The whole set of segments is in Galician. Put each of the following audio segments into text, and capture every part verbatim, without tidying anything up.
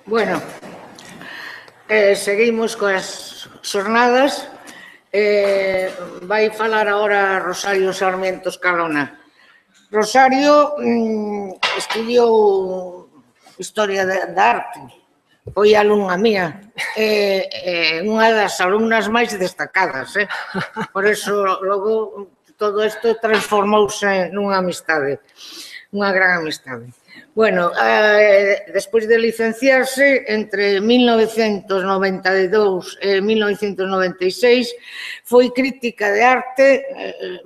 Bueno, eh, seguimos coas xornadas. Eh, vai falar agora Rosario Sarmiento Escalona. Rosario mm, estudiou Historia da Arte, foi alumna mía, é eh, eh, unha das alumnas máis destacadas, eh? Por eso logo todo isto transformouse nunha amistade, unha gran amistade. Bueno, eh, despois de licenciarse, entre mil novecentos noventa e dous e mil novecentos noventa e seis, foi crítica de arte, eh,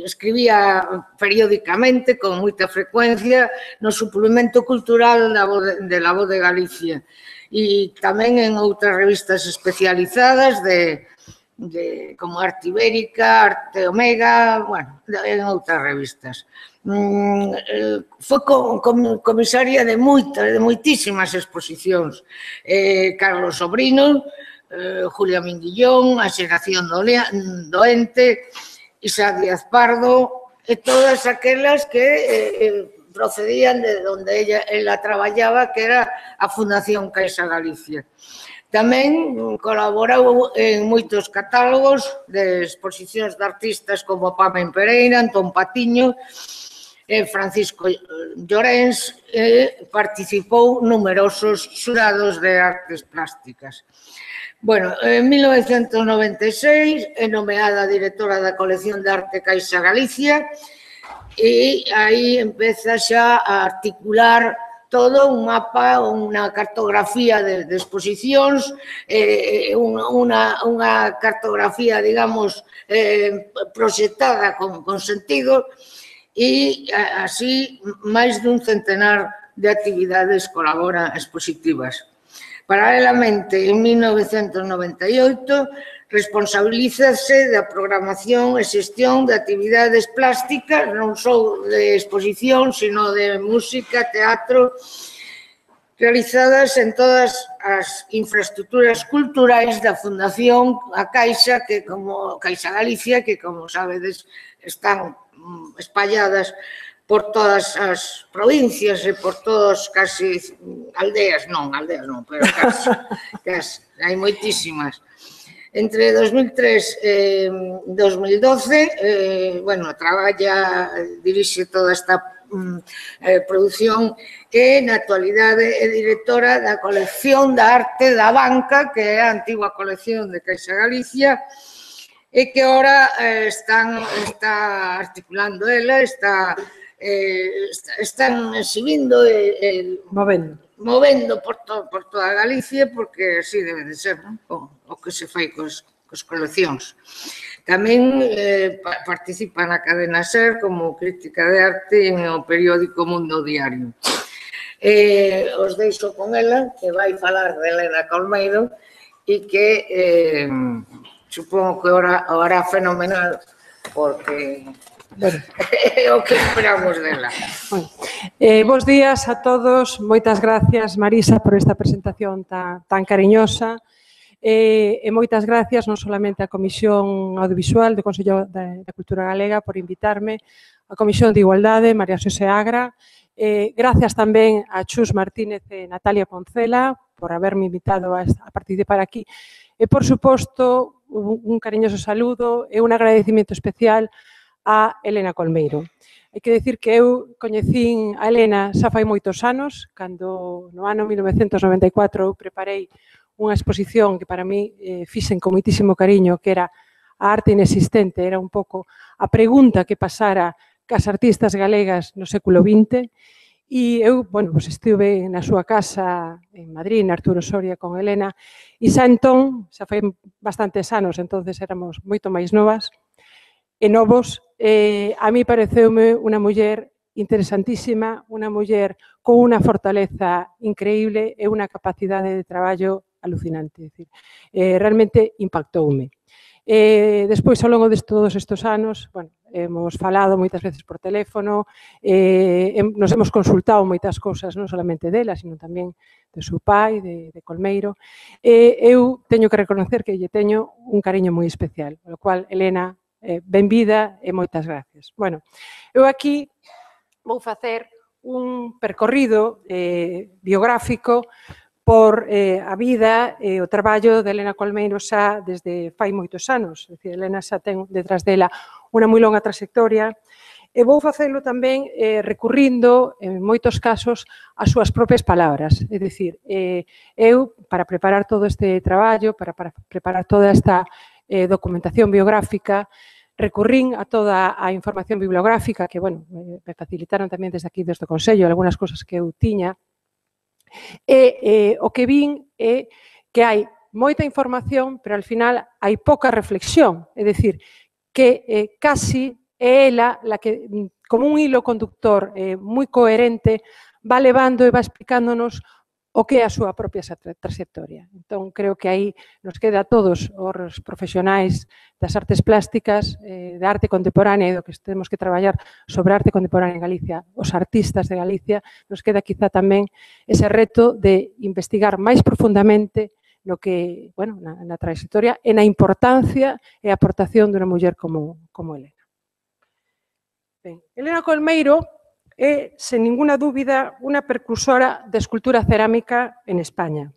escribía periódicamente, con moita frecuencia, no suplemento cultural da Voz de, de La Voz de Galicia, e tamén en outras revistas especializadas de, de como Arte Ibérica, Arte Omega, bueno, en outras revistas. Mm, eh, foi comisaria de moitas, de moitísimas exposicións. Eh, Carlos Sobrino, eh, Julia Minguillón, A Xeración Doente, Isa Díaz Pardo, e todas aquelas que eh, procedían de onde ella, ela traballaba, que era a Fundación Caixa Galicia. Tamén colaborou en moitos catálogos de exposicións de artistas como Pamen Pereira, Antón Patiño, Francisco Llorens, e participou numerosos xurados de artes plásticas. Bueno, en mil novecentos noventa e seis é nomeada directora da colección de arte Caixa Galicia e aí empeza xa a articular todo un mapa, unha cartografía de, de exposicións, eh, unha, unha cartografía, digamos, eh, proxectada con, con sentido, e así máis dun centenar de actividades colabora expositivas. Paralelamente, en mil novecentos noventa e oito, responsabilízase da programación e xestión de actividades plásticas, non só de exposición, sino de música, teatro, realizadas en todas as infraestructuras culturais da Fundación a Caixa, que como Caixa Galicia, que como sabedes están espalladas por todas as provincias e por todas casi aldeas, non, aldeas non, pero casi, casi, hai moitísimas. Entre dos mil tres e dos mil doce, eh, bueno, traballa, dirixe toda esta eh, produción e na actualidade é directora da colección da arte da Banca, que é a antigua colección de Caixa Galicia, e que ahora eh, están, está articulando ela, está, eh, están exhibindo e eh, movendo, movendo por, to, por toda Galicia, porque así debe de ser, non? O, o que se fai cos, cos coleccións. Tamén eh, participa na cadena SER como crítica de arte en o periódico Mundo Diario. Eh, os deixo con ela, que vai falar de Elena Colmeiro, e que... Eh, supongo que ahora, ahora fenomenal, porque bueno, é o que esperamos dela. Bueno, eh, bos días a todos, moitas gracias, Marisa, por esta presentación tan, tan cariñosa, eh, e moitas gracias non solamente á Comisión Audiovisual do Consello da, da Cultura Galega por invitarme, a Comisión de Igualdade, María Xosé Agra, eh, gracias tamén a Chus Martínez e Natalia Poncela por haberme invitado a, a participar aquí, e por suposto un cariñoso saludo e un agradecimiento especial a Elena Colmeiro. Hai que decir que eu coñecín a Elena xa fai moitos anos, cando no ano mil novecentos noventa e catro eu preparei unha exposición que para mí eh, fixen con moitísimo cariño, que era a arte inexistente, era un pouco a pregunta que pasara cas artistas galegas no século vinte, e eu, bueno, pues estuve na súa casa en Madrid, na Arturo Soria, con Elena, e xa entón, xa foi bastantes anos, entonces éramos moito máis novas e novos, eh, a mí pareceume unha muller interesantísima, unha muller con unha fortaleza increíble e unha capacidade de traballo alucinante, é dicir, eh, realmente impactoume. Eh, despois, ao longo de todos estes anos, bueno, hemos falado moitas veces por teléfono, eh, nos hemos consultado moitas cousas, non solamente dela, sino tamén de seu pai, de, de Colmeiro. Eh, eu teño que reconocer que lle teño un cariño moi especial, polo cual, Elena, eh, benvida e moitas gracias. Bueno, eu aquí vou facer un percorrido eh, biográfico por eh, a vida e o traballo de Elena Colmeiro xa desde fai moitos anos. É dicir, Elena xa ten detrás dela unha moi longa trayectoria e vou facelo tamén eh, recurrindo, en moitos casos, as súas propias palabras. É dicir, eh, eu, para preparar todo este traballo, para, para preparar toda esta eh, documentación biográfica, recurrín a toda a información bibliográfica que, bueno, me facilitaron tamén desde aquí, desde o Consello, algunhas cousas que eu tiña, e eh, o que vin é que hai moita información, pero al final hai pouca reflexión, é dicir, que eh, casi é ela la que, como un hilo conductor eh, moi coherente, va levando e va explicándonos o que é a súa propia trayectoria. Entón, creo que aí nos queda a todos os profesionais das artes plásticas, eh, da arte contemporánea e do que temos que traballar sobre arte contemporánea en Galicia, os artistas de Galicia, nos queda quizá tamén ese reto de investigar máis profundamente no que, bueno, na, na trayectoria e na importancia e a aportación dunha muller como, como Elena. Ben, Elena Colmeiro é, sen ninguna dúbida, unha precursora de escultura cerámica en España.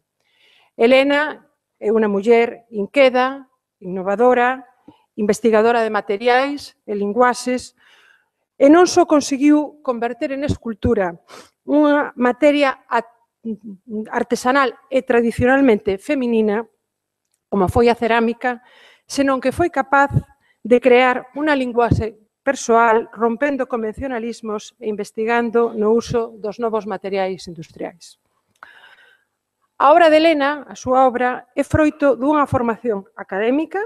Elena é unha muller inqueda, innovadora, investigadora de materiais e linguaxes, e non só conseguiu converter en escultura unha materia artesanal e tradicionalmente feminina, como foi a cerámica, senón que foi capaz de crear unha linguaxe persoal, rompendo convencionalismos e investigando no uso dos novos materiais industriais. A obra de Elena, a súa obra, é froito dunha formación académica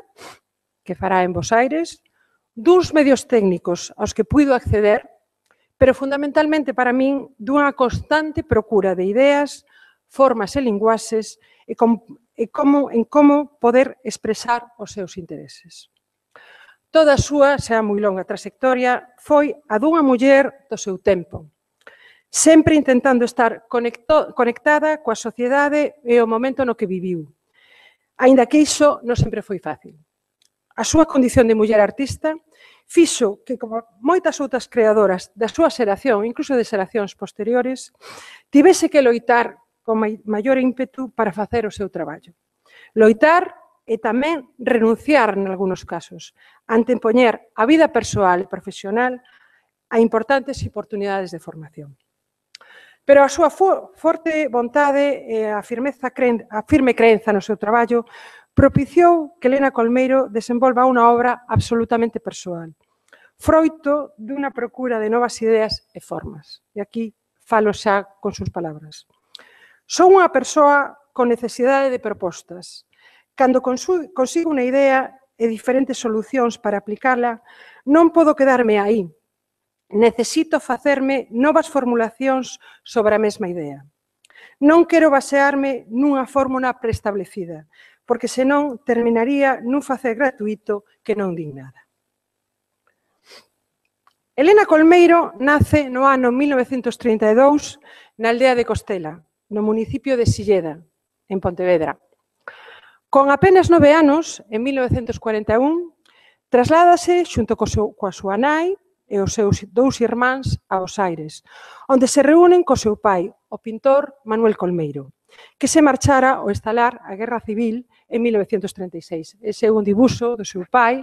que fará en Bos Aires, duns medios técnicos aos que puido acceder, pero fundamentalmente para min dunha constante procura de ideas, formas e linguaxes e, com, e como, en como poder expresar os seus intereses. Toda a súa, xa moi longa trayectoria, foi a dunha muller do seu tempo, sempre intentando estar conecto, conectada coa sociedade e o momento no que viviu, aínda que iso non sempre foi fácil. A súa condición de muller artista fixo que, como moitas outras creadoras da súa xeración, incluso de xeracións posteriores, tivese que loitar con maior ímpetu para facer o seu traballo. Loitar e tamén renunciar, en algúns casos, antepoñer a vida persoal e profesional a importantes oportunidades de formación. Pero a súa forte vontade e a, firmeza, a firme creenza no seu traballo propiciou que Elena Colmeiro desenvolva unha obra absolutamente persoal, froito dunha procura de novas ideas e formas. E aquí falo xa con sus palabras. Son unha persoa con necesidade de propostas. Cando consigo unha idea e diferentes solucións para aplicarla, non podo quedarme aí. Necesito facerme novas formulacións sobre a mesma idea. Non quero basearme nunha fórmula preestablecida, porque senón terminaría nun facer gratuito que non din nada. Elena Colmeiro nace no ano mil novecentos trinta e dous na aldea de Costela, no municipio de Silleda, en Pontevedra. Con apenas nove anos, en mil novecentos cuarenta e un, trasládase xunto coa súa nai e os seus dous irmáns a Bos Aires, onde se reúnen co seu pai, o pintor Manuel Colmeiro, que se marchara ao estalar a Guerra Civil en mil novecentos treinta e seis. Ese é un dibuixo do seu pai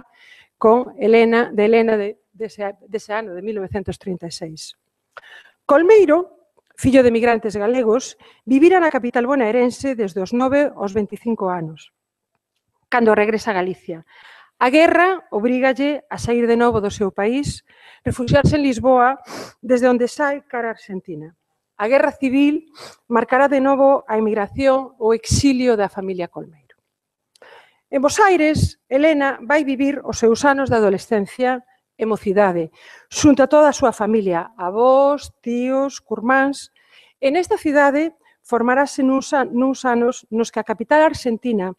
con Elena, de Elena de, dese, dese ano, de mil novecentos trinta e seis. Colmeiro, fillo de migrantes galegos, vivira na capital bonaerense desde os nove aos veinticinco anos, cando regresa a Galicia. A guerra obrígalle a sair de novo do seu país, refugiarse en Lisboa, desde onde sai cara a Argentina. A guerra civil marcará de novo a emigración ou exilio da familia Colmeiro. En Bos Aires, Elena vai vivir os seus anos de adolescencia e mocidade, xunto a toda a súa familia, avós, tíos, curmáns. En esta cidade formarase nuns anos nos que a capital argentina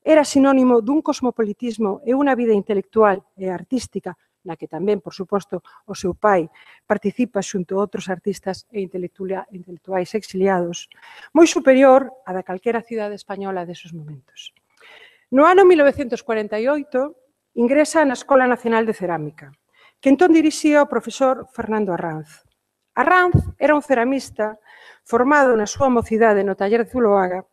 era sinónimo dun cosmopolitismo e unha vida intelectual e artística, na que tamén, por suposto, o seu pai participa xunto a outros artistas e intelectuais exiliados, moi superior a da calquera cidade española deses momentos. No ano mil novecentos cuarenta e oito, ingresa na Escola Nacional de Cerámica, que entón dirixía o profesor Fernando Arranz. Arranz era un ceramista formado na súa mocidade no taller de Zuloaga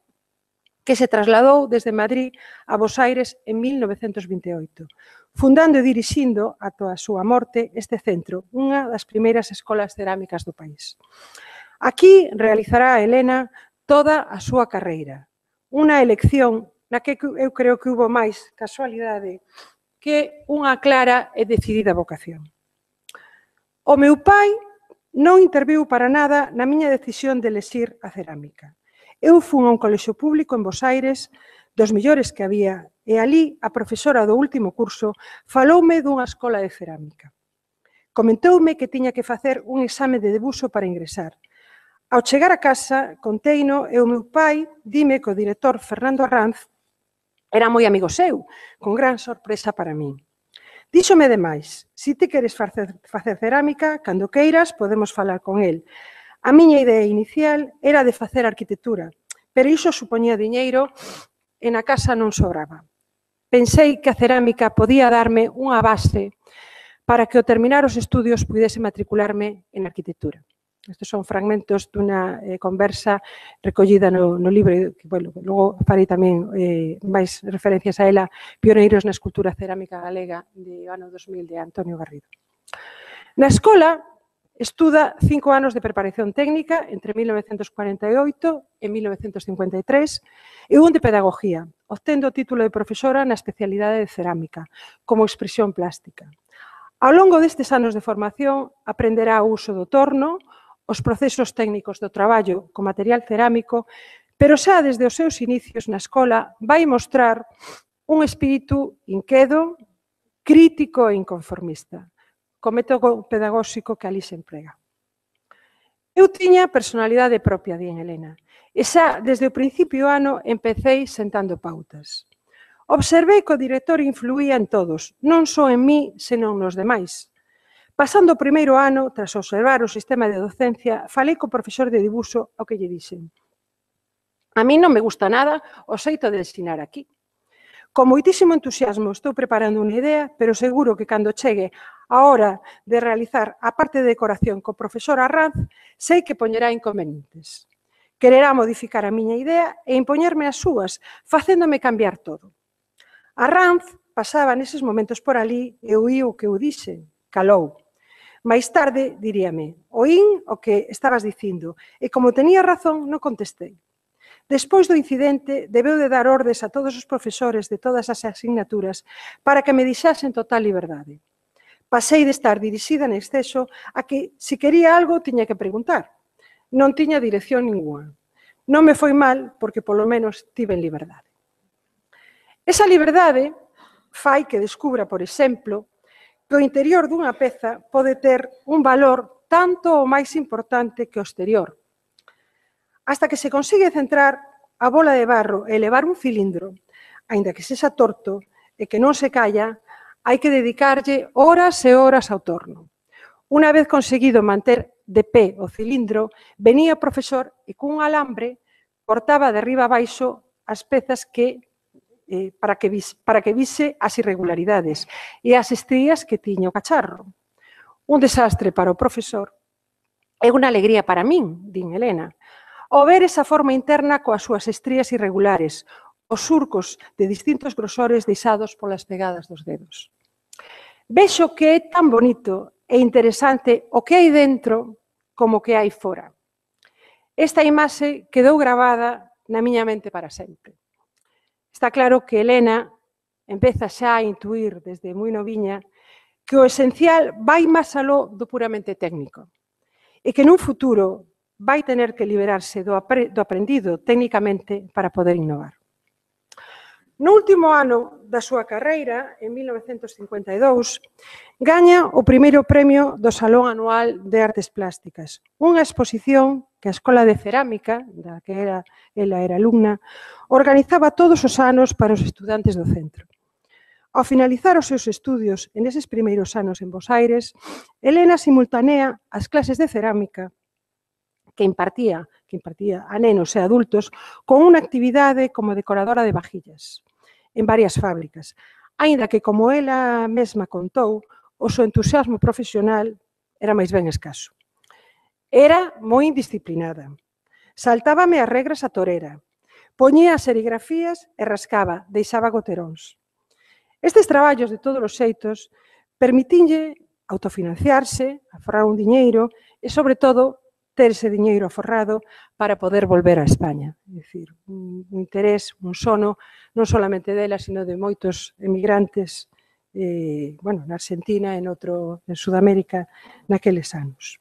que se trasladou desde Madrid a Bos Aires en mil novecentos vinte e oito, fundando e dirixindo, ata a súa morte, este centro, unha das primeiras escolas cerámicas do país. Aquí realizará a Helena toda a súa carreira, unha elección na que eu creo que hubo máis casualidade que unha clara e decidida vocación. O meu pai non interviu para nada na miña decisión de elexir a cerámica. Eu fui a un colexio público en Bos Aires, dos mellores que había, e ali a profesora do último curso faloume dunha escola de cerámica. Comentoume que tiña que facer un exame de debuxo para ingresar. Ao chegar a casa, conteino e o meu pai dime que o director Fernando Arranz era moi amigo seu, con gran sorpresa para min. Díxome demais, se ti queres facer, facer cerámica, cando queiras podemos falar con el. A miña idea inicial era de facer arquitectura, pero iso supoñía diñeiro e na casa non sobraba. Pensei que a cerámica podía darme unha base para que ao terminar os estudios pudese matricularme en arquitectura. Estes son fragmentos dunha eh, conversa recollida no, no libro, que, bueno, logo farei tamén eh, máis referencias a ela, Pioneiros na escultura cerámica galega, de ano dos mil, de Antonio Garrido. Na escola, estuda cinco anos de preparación técnica entre mil novecentos cuarenta e oito e mil novecentos cincuenta e tres e un de pedagogía, obtendo o título de profesora na especialidade de cerámica, como expresión plástica. Ao longo destes anos de formación, aprenderá o uso do torno, os procesos técnicos do traballo con material cerámico, pero xa desde os seus inicios na escola vai mostrar un espírito inquedo, crítico e inconformista, co método pedagóxico que ali se emprega. Eu tiña personalidade propia, di en Helena, e xa desde o principio do ano empecéi sentando pautas. Observei que o director influía en todos, non só en mí, senón nos demais. Pasando o primeiro ano, tras observar o sistema de docencia, falei co profesor de dibuxo ao que lle dixen: a mí non me gusta nada o xeito de ensinar aquí. Con moitísimo entusiasmo estou preparando unha idea, pero seguro que cando chegue a hora de realizar a parte de decoración co profesor Arranz, sei que poñerá inconvenientes. Quererá modificar a miña idea e impoñerme as súas, facéndome cambiar todo. Arranz pasaba neses momentos por ali e oí o que eu dixe, calou. Mais tarde diríame, oín o que estabas dicindo e como tenía razón non contestei. Despois do incidente, debeu de dar ordes a todos os profesores de todas as asignaturas para que me deixasen total liberdade. Pasei de estar dirixida en exceso a que, se quería algo, tiña que preguntar. Non tiña dirección ninguna. Non me foi mal porque, polo menos, tive liberdade. Esa liberdade fai que descubra, por exemplo, que o interior dunha peza pode ter un valor tanto ou máis importante que o exterior. Hasta que se consigue centrar a bola de barro e elevar un cilindro, aínda que sexa torto e que non se calla, hai que dedicarlle horas e horas ao torno. Unha vez conseguido manter de pé o cilindro, venía o profesor e cun alambre cortaba de arriba a baixo as pezas que Eh, para, que vis, para que vise as irregularidades e as estrías que tiña o cacharro. Un desastre para o profesor e unha alegría para min, din Helena, ao ver esa forma interna coas súas estrías irregulares, os surcos de distintos grosores deixados polas pegadas dos dedos. Vexo que é tan bonito e interesante o que hai dentro como o que hai fora. Esta imaxe quedou gravada na miña mente para sempre. Está claro que Helena empeza xa a intuir desde moi noviña que o esencial vai máis aló do puramente técnico e que nun futuro vai tener que liberarse do aprendido técnicamente para poder innovar. No último ano da súa carreira, en mil novecentos cincuenta e dous, gaña o primeiro premio do Salón Anual de Artes Plásticas, unha exposición que a Escola de Cerámica, da que era, ela era alumna, organizaba todos os anos para os estudantes do centro. Ao finalizar os seus estudios en eses primeiros anos en Bos Aires, Helena simultanea as clases de cerámica que impartía, que impartía a nenos e adultos con unha actividade como decoradora de vajillas en varias fábricas, aínda que, como ela mesma contou, o seu entusiasmo profesional era máis ben escaso. Era moi indisciplinada. Saltábame as regras a torera. Poñía as serigrafías e rascaba, deixaba goteróns. Estes traballos de todos os xeitos permitinlle autofinanciarse, aforrar un diñeiro e, sobre todo, ter ese diñeiro aforrado para poder volver a España. É dicir, un interés, un sono, non solamente dela, sino de moitos emigrantes, eh, bueno, na Argentina e noutro, en Sudamérica, naqueles anos.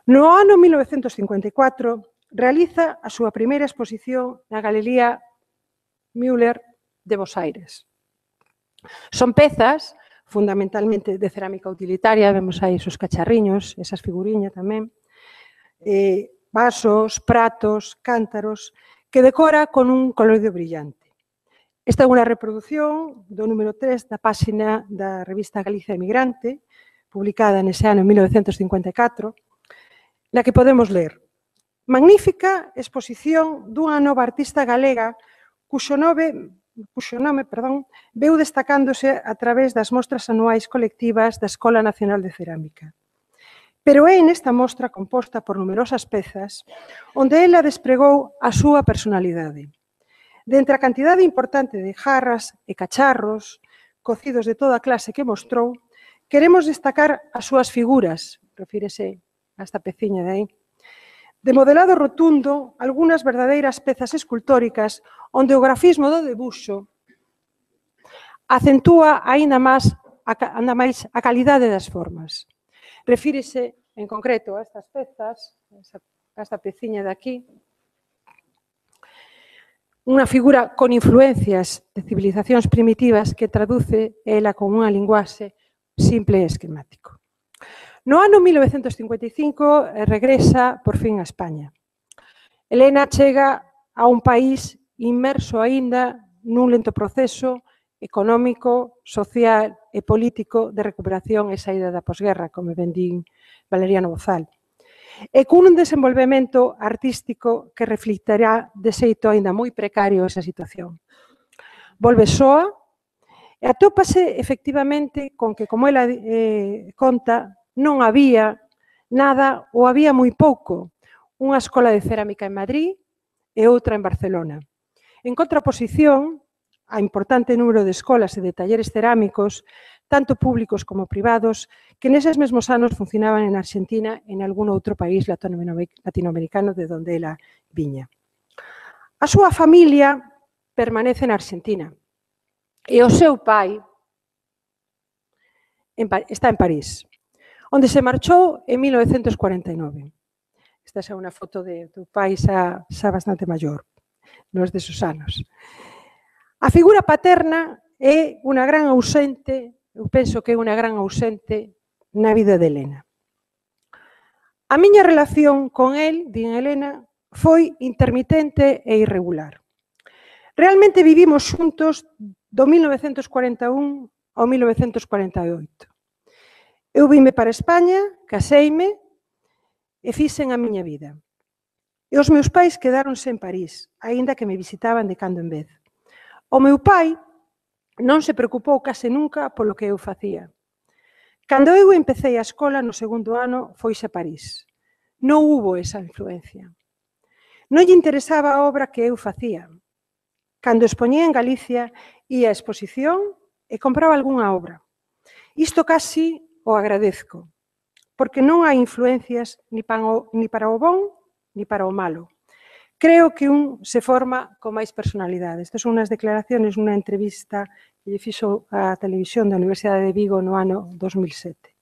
No ano mil novecentos cincuenta e catro, realiza a súa primeira exposición na Galería Müller de Bos Aires. Son pezas, fundamentalmente de cerámica utilitaria, vemos aí esos cacharriños, esas figuriñas tamén, eh, vasos, pratos, cántaros, que decora con un colorido brillante. Esta é unha reproducción do número tres da páxina da revista Galicia Emigrante, publicada nese ano en mil novecentos cincuenta e catro, na que podemos ler: magnífica exposición dunha nova artista galega cuxo nome, cuxo nome perdón, veu destacándose a través das mostras anuais colectivas da Escola Nacional de Cerámica. Pero é nesta mostra composta por numerosas pezas onde ela despregou a súa personalidade. Dentre a cantidade importante de jarras e cacharros, cocidos de toda clase que mostrou, queremos destacar as súas figuras, refírese a esta peciña de aí, de modelado rotundo, algunhas verdadeiras pezas escultóricas onde o grafismo do debuxo acentúa aínda máis a, máis a calidade das formas. Refírese en concreto a estas pezas, a esta peciña de aquí, unha figura con influencias de civilizacións primitivas que traduce ela con unha linguaxe simple e esquemático. No ano mil novecentos cincuenta e cinco regresa por fin a España. Elena chega a un país inmerso aínda nun lento proceso económico, social e político de recuperación e saída da posguerra, como ben din Valeriano Bozal, e cun desenvolvemento artístico que reflectará de xeito aínda moi precario esa situación. Volve soa e atópase efectivamente con que, como ela eh, conta, non había nada ou había moi pouco, unha escola de cerámica en Madrid e outra en Barcelona. En contraposición, a importante número de escolas e de talleres cerámicos, tanto públicos como privados, que neses mesmos anos funcionaban en Argentina e en algún outro país latinoamericano de onde ela viña. A súa familia permanece na Argentina e o seu pai está en París, onde se marchou en mil novecentos cuarenta e nove. Esta é unha foto de tu pai xa, xa bastante maior, nos desos anos. A figura paterna é unha gran ausente, eu penso que é unha gran ausente na vida de Elena. A miña relación con el, din Elena, foi intermitente e irregular. Realmente vivimos xuntos do mil novecentos cuarenta e un ao mil novecentos cuarenta e oito. Eu vime para España, caseime e fixen a miña vida. E os meus pais quedáronse en París, aínda que me visitaban de cando en vez. O meu pai non se preocupou case nunca polo que eu facía. Cando eu empecé a escola no segundo ano, foise a París. Non hubo esa influencia. Non lle interesaba a obra que eu facía. Cando expoñía en Galicia, ia a exposición e compraba algunha obra. Isto casi o agradezco, porque non hai influencias ni para o bon ni para o malo. Creo que un se forma con máis personalidade. Estas son unhas declaraciones nunha entrevista que lle fixo a televisión da Universidade de Vigo no ano dos mil sete.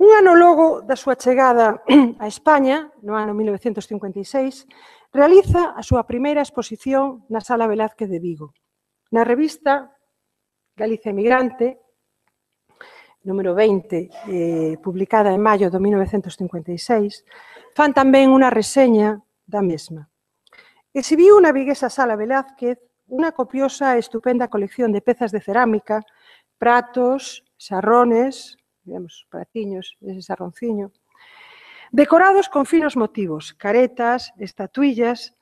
Un ano logo da súa chegada a España, no ano mil novecentos cincuenta e seis, realiza a súa primeira exposición na Sala Velázquez de Vigo. Na revista Galicia Emigrante, número veinte, eh, publicada en maio de mil novecentos cincuenta e seis, fan tamén unha reseña da mesma. Exhibiu na viguesa Sala Velázquez unha copiosa e estupenda colección de pezas de cerámica, pratos, xarrones, digamos, pratiños, ese xarronciño, decorados con finos motivos, caretas, estatuillas.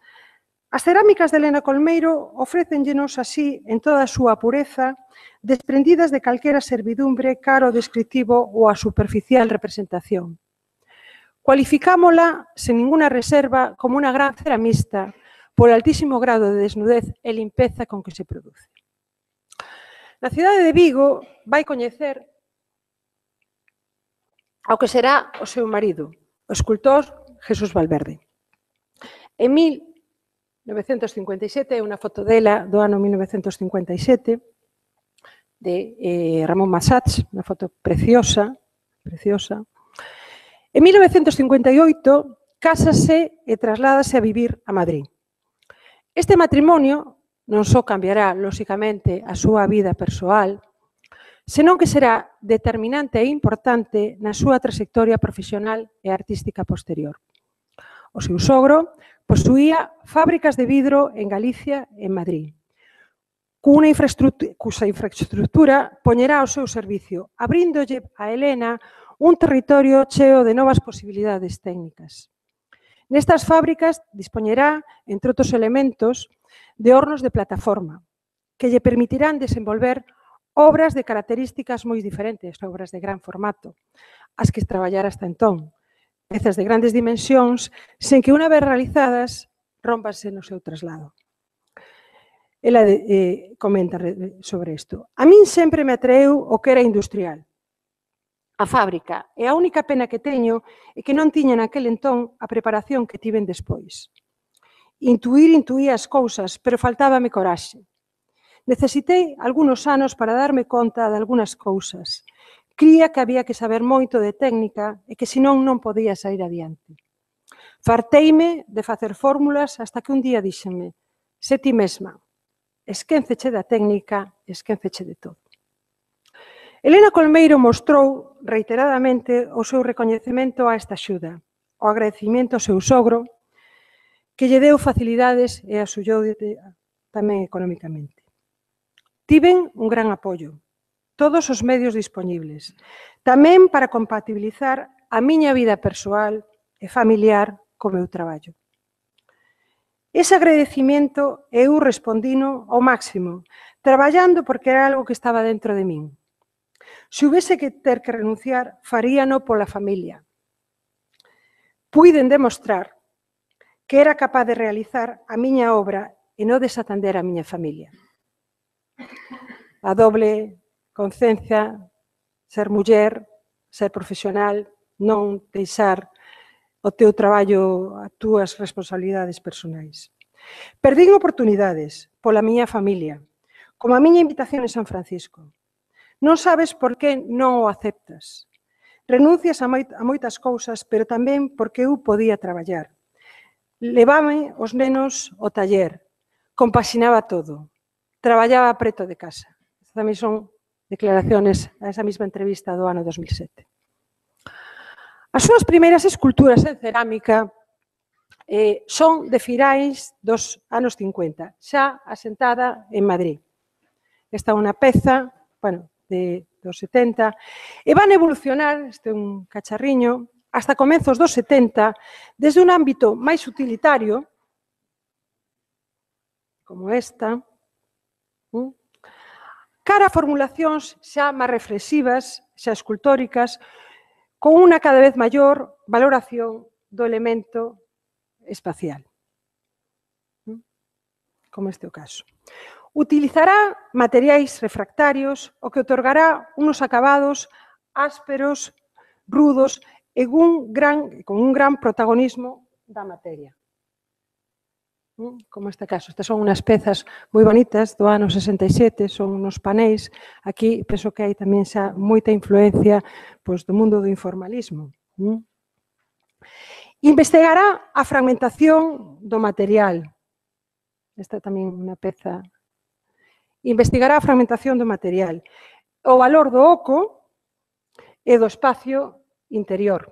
As cerámicas de Elena Colmeiro ofrécenllenos así, en toda a súa pureza, desprendidas de calquera servidumbre, caro descritivo ou a superficial representación. Cualificámola sen ninguna reserva como unha gran ceramista polo altísimo grado de desnudez e limpeza con que se produce. Na cidade de Vigo vai coñecer ao que será o seu marido, o escultor Jesús Valverde. En mil novecentos cincuenta e sete, unha foto dela do ano mil novecentos cincuenta e sete, de eh, Ramón Massats, unha foto preciosa, preciosa. En mil novecentos cincuenta e oito, cásase e trasládase a vivir a Madrid. Este matrimonio non só cambiará, lóxicamente, a súa vida persoal, senón que será determinante e importante na súa trayectoria profesional e artística posterior. O seu sogro posuía fábricas de vidro en Galicia e en Madrid, cunha infraestructura, cuxa infraestructura poñerá ao seu servicio, abríndolle a Helena un territorio cheo de novas posibilidades técnicas. Nestas fábricas dispoñerá, entre outros elementos, de hornos de plataforma, que lle permitirán desenvolver obras de características moi diferentes, obras de gran formato, as que traballara hasta entón, pezas de grandes dimensións, sen que unha vez realizadas rómpanse no seu traslado. Ela eh, comenta sobre isto. A min sempre me atraeu o que era industrial. A fábrica, e a única pena que teño é que non tiña naquel entón a preparación que tiven despois. Intuir, intuía as cousas, pero faltábame coraxe. Necesitei algunos anos para darme conta de algunas cousas. Cría que había que saber moito de técnica e que senón non podía sair adiante. Farteime de facer fórmulas hasta que un día díxenme: se ti mesma, esquénceche da técnica, esquénceche de todo. Helena Colmeiro mostrou reiteradamente o seu recoñecemento a esta axuda, o agradecimiento ao seu sogro, que lle deu facilidades e axullou tamén económicamente. Tiven un gran apoio, todos os medios dispoñibles, tamén para compatibilizar a miña vida persoal e familiar co meu traballo. Ese agradecimiento eu respondino ao máximo, traballando porque era algo que estaba dentro de min. Se houvese que ter que renunciar, faríano pola familia. Puiden demostrar que era capaz de realizar a miña obra e non desatender a miña familia. A doble conciencia, ser muller, ser profesional, non deixar o teu traballo, as túas responsabilidades personais. Perdín oportunidades pola miña familia, como a miña invitación en San Francisco. Non sabes por que non o aceptas. Renuncias a moitas cousas, pero tamén porque eu podía traballar. Levame os nenos ao taller, compaxinaba todo, traballaba preto de casa. Estas tamén son declaraciones a esa mesma entrevista do ano dos mil sete. As súas primeiras esculturas en cerámica eh, son de finais dos anos cincuenta, xa asentada en Madrid. Esta é unha peza, bueno, de, dos setenta, e van evolucionar, este é un cacharriño, hasta comezos dos setenta, desde un ámbito máis utilitario, como esta, cara a formulacións xa máis reflexivas, xa escultóricas, con unha cada vez maior valoración do elemento espacial, como este o caso. Utilizará materiais refractarios, o que otorgará unos acabados ásperos, rudos e un gran, con un gran protagonismo da materia. Como este caso. Estas son unhas pezas moi bonitas do ano sesenta e sete, son unos panéis. Aquí penso que hai tamén xa moita influencia pois, do mundo do informalismo. Investigará a fragmentación do material. Esta tamén é unha peza. Investigará a fragmentación do material, o valor do oco e do espacio interior,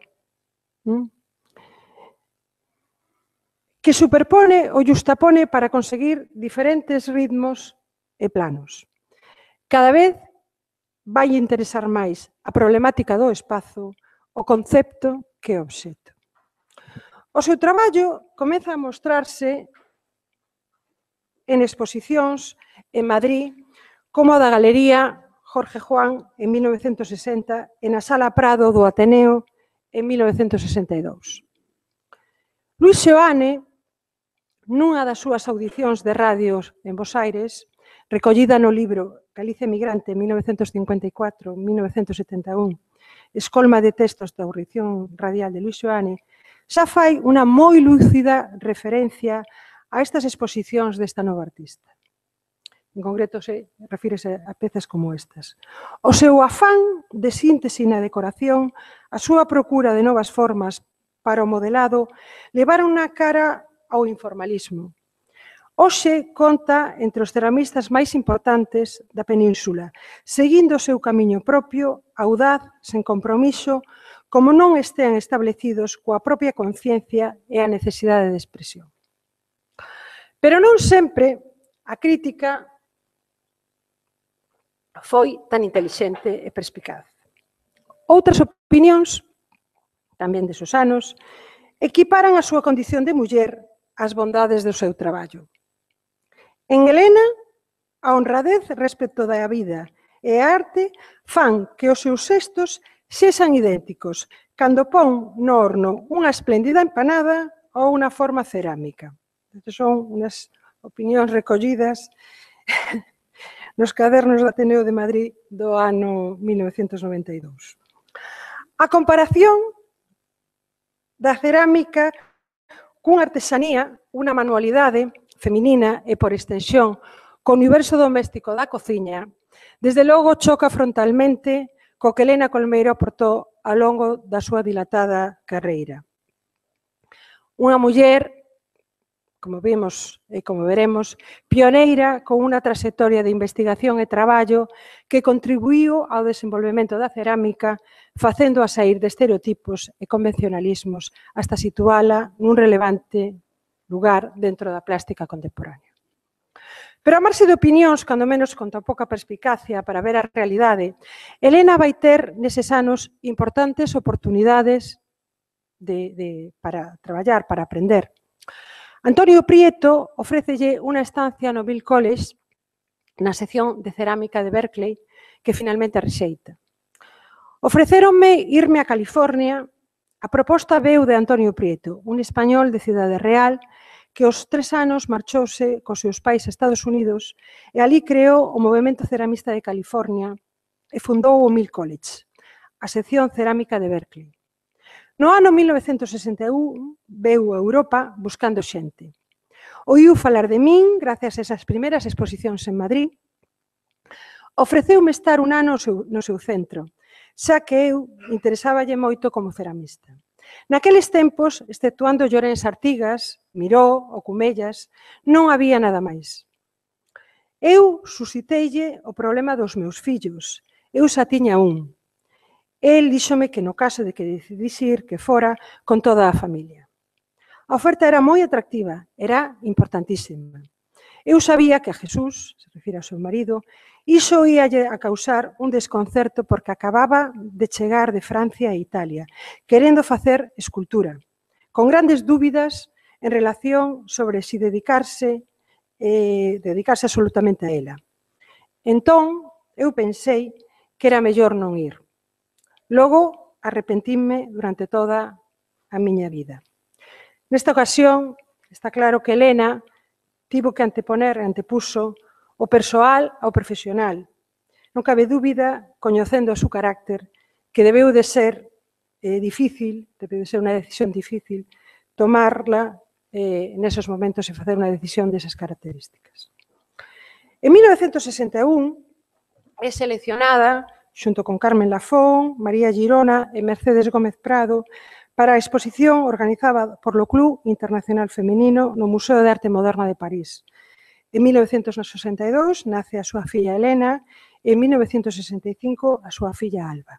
que superpone ou justapone para conseguir diferentes ritmos e planos. Cada vez vai interesar máis a problemática do espazo, o concepto que o obxecto. O seu traballo comeza a mostrarse en exposicións en Madrid, como a da Galería Jorge Juan en mil novecentos sesenta, e na Sala Prado do Ateneo en mil novecentos sesenta e dous. Luis Seoane, nunha das súas audicións de radios en Bos Aires, recollida no libro Galicia Emigrante, mil novecentos cincuenta e catro a mil novecentos setenta e un, escolma de textos da audición radial de Luis Seoane, xa fai unha moi lúcida referencia a estas exposicións desta nova artista. En concreto, se refírese a pezas como estas. O seu afán de síntese na decoración, a súa procura de novas formas para o modelado, levaron na cara ao informalismo. Hoxe conta entre os ceramistas máis importantes da península, seguindo o seu camiño propio, audaz, sen compromiso, como non estean establecidos coa propia conciencia e a necesidade de expresión. Pero non sempre a crítica foi tan intelixente e perspicaz. Outras opinións, tamén desos anos, equiparan a súa condición de muller ás bondades do seu traballo. En Helena, a honradez respecto da vida e a arte fan que os seus xestos sexan idénticos cando pon no horno unha espléndida empanada ou unha forma cerámica. Estas son unhas opinións recollidas nos cadernos do Ateneo de Madrid do ano mil novecentos noventa e dous. A comparación da cerámica cunha artesanía, unha manualidade feminina e, por extensión, co universo doméstico da cociña, desde logo choca frontalmente co que Helena Colmeiro aportou ao longo da súa dilatada carreira. Unha muller, como vimos e como veremos, pioneira con unha trayectoria de investigación e traballo que contribuíu ao desenvolvemento da cerámica, facendo a sair de estereotipos e convencionalismos hasta situala nun relevante lugar dentro da plástica contemporánea. Pero a marxe de opinións, cando menos con tan pouca perspicacia para ver a realidade, Helena vai ter neses anos importantes oportunidades de, de, para traballar, para aprender. Antonio Prieto ofrécelle unha estancia no Bill College na sección de cerámica de Berkeley que finalmente rexeita. Ofrecéronme irme a California. A proposta veu de Antonio Prieto, un español de Cidade Real que aos tres anos marchouse cos seus pais a Estados Unidos e ali creou o Movemento Ceramista de California e fundou o Mill College, a sección cerámica de Berkeley. No ano mil novecentos sesenta e un veu a Europa buscando xente. Oíu falar de min gracias a esas primeiras exposicións en Madrid. Ofreceume estar un ano no seu centro, xa que eu interesáballe moito como ceramista. Naqueles tempos, exceptuando Llorens Artigas, Miró ou Cumellas, non había nada máis. Eu susciteille o problema dos meus fillos. Eu xa tiña un. El díxome que no caso de que decidise ir, que fora con toda a familia. A oferta era moi atractiva, era importantísima. Eu sabía que a Jesús, se refire ao seu marido, iso ia a causar un desconcerto porque acababa de chegar de Francia e Italia, querendo facer escultura, con grandes dúbidas en relación sobre si dedicarse, eh, dedicarse absolutamente a ela. Entón, eu pensei que era mellor non ir. Logo, arrepentíme durante toda a miña vida. Nesta ocasión, está claro que Helena tivo que anteponer, antepuso, o persoal ao profesional. Non cabe dúbida, coñecendo o seu carácter, que debeu de ser eh, difícil, debeu de ser unha decisión difícil, tomarla eh, nesos momentos e facer unha decisión desas características. En mil novecentos sesenta e un é seleccionada xunto con Carmen Lafón, María Girona e Mercedes Gómez Prado, para a exposición organizada por lo Club Internacional Femenino no Museo de Arte Moderna de París. En mil novecentos sesenta e dous nace a súa filla Helena e en mil novecentos sesenta e cinco a súa filla Alba.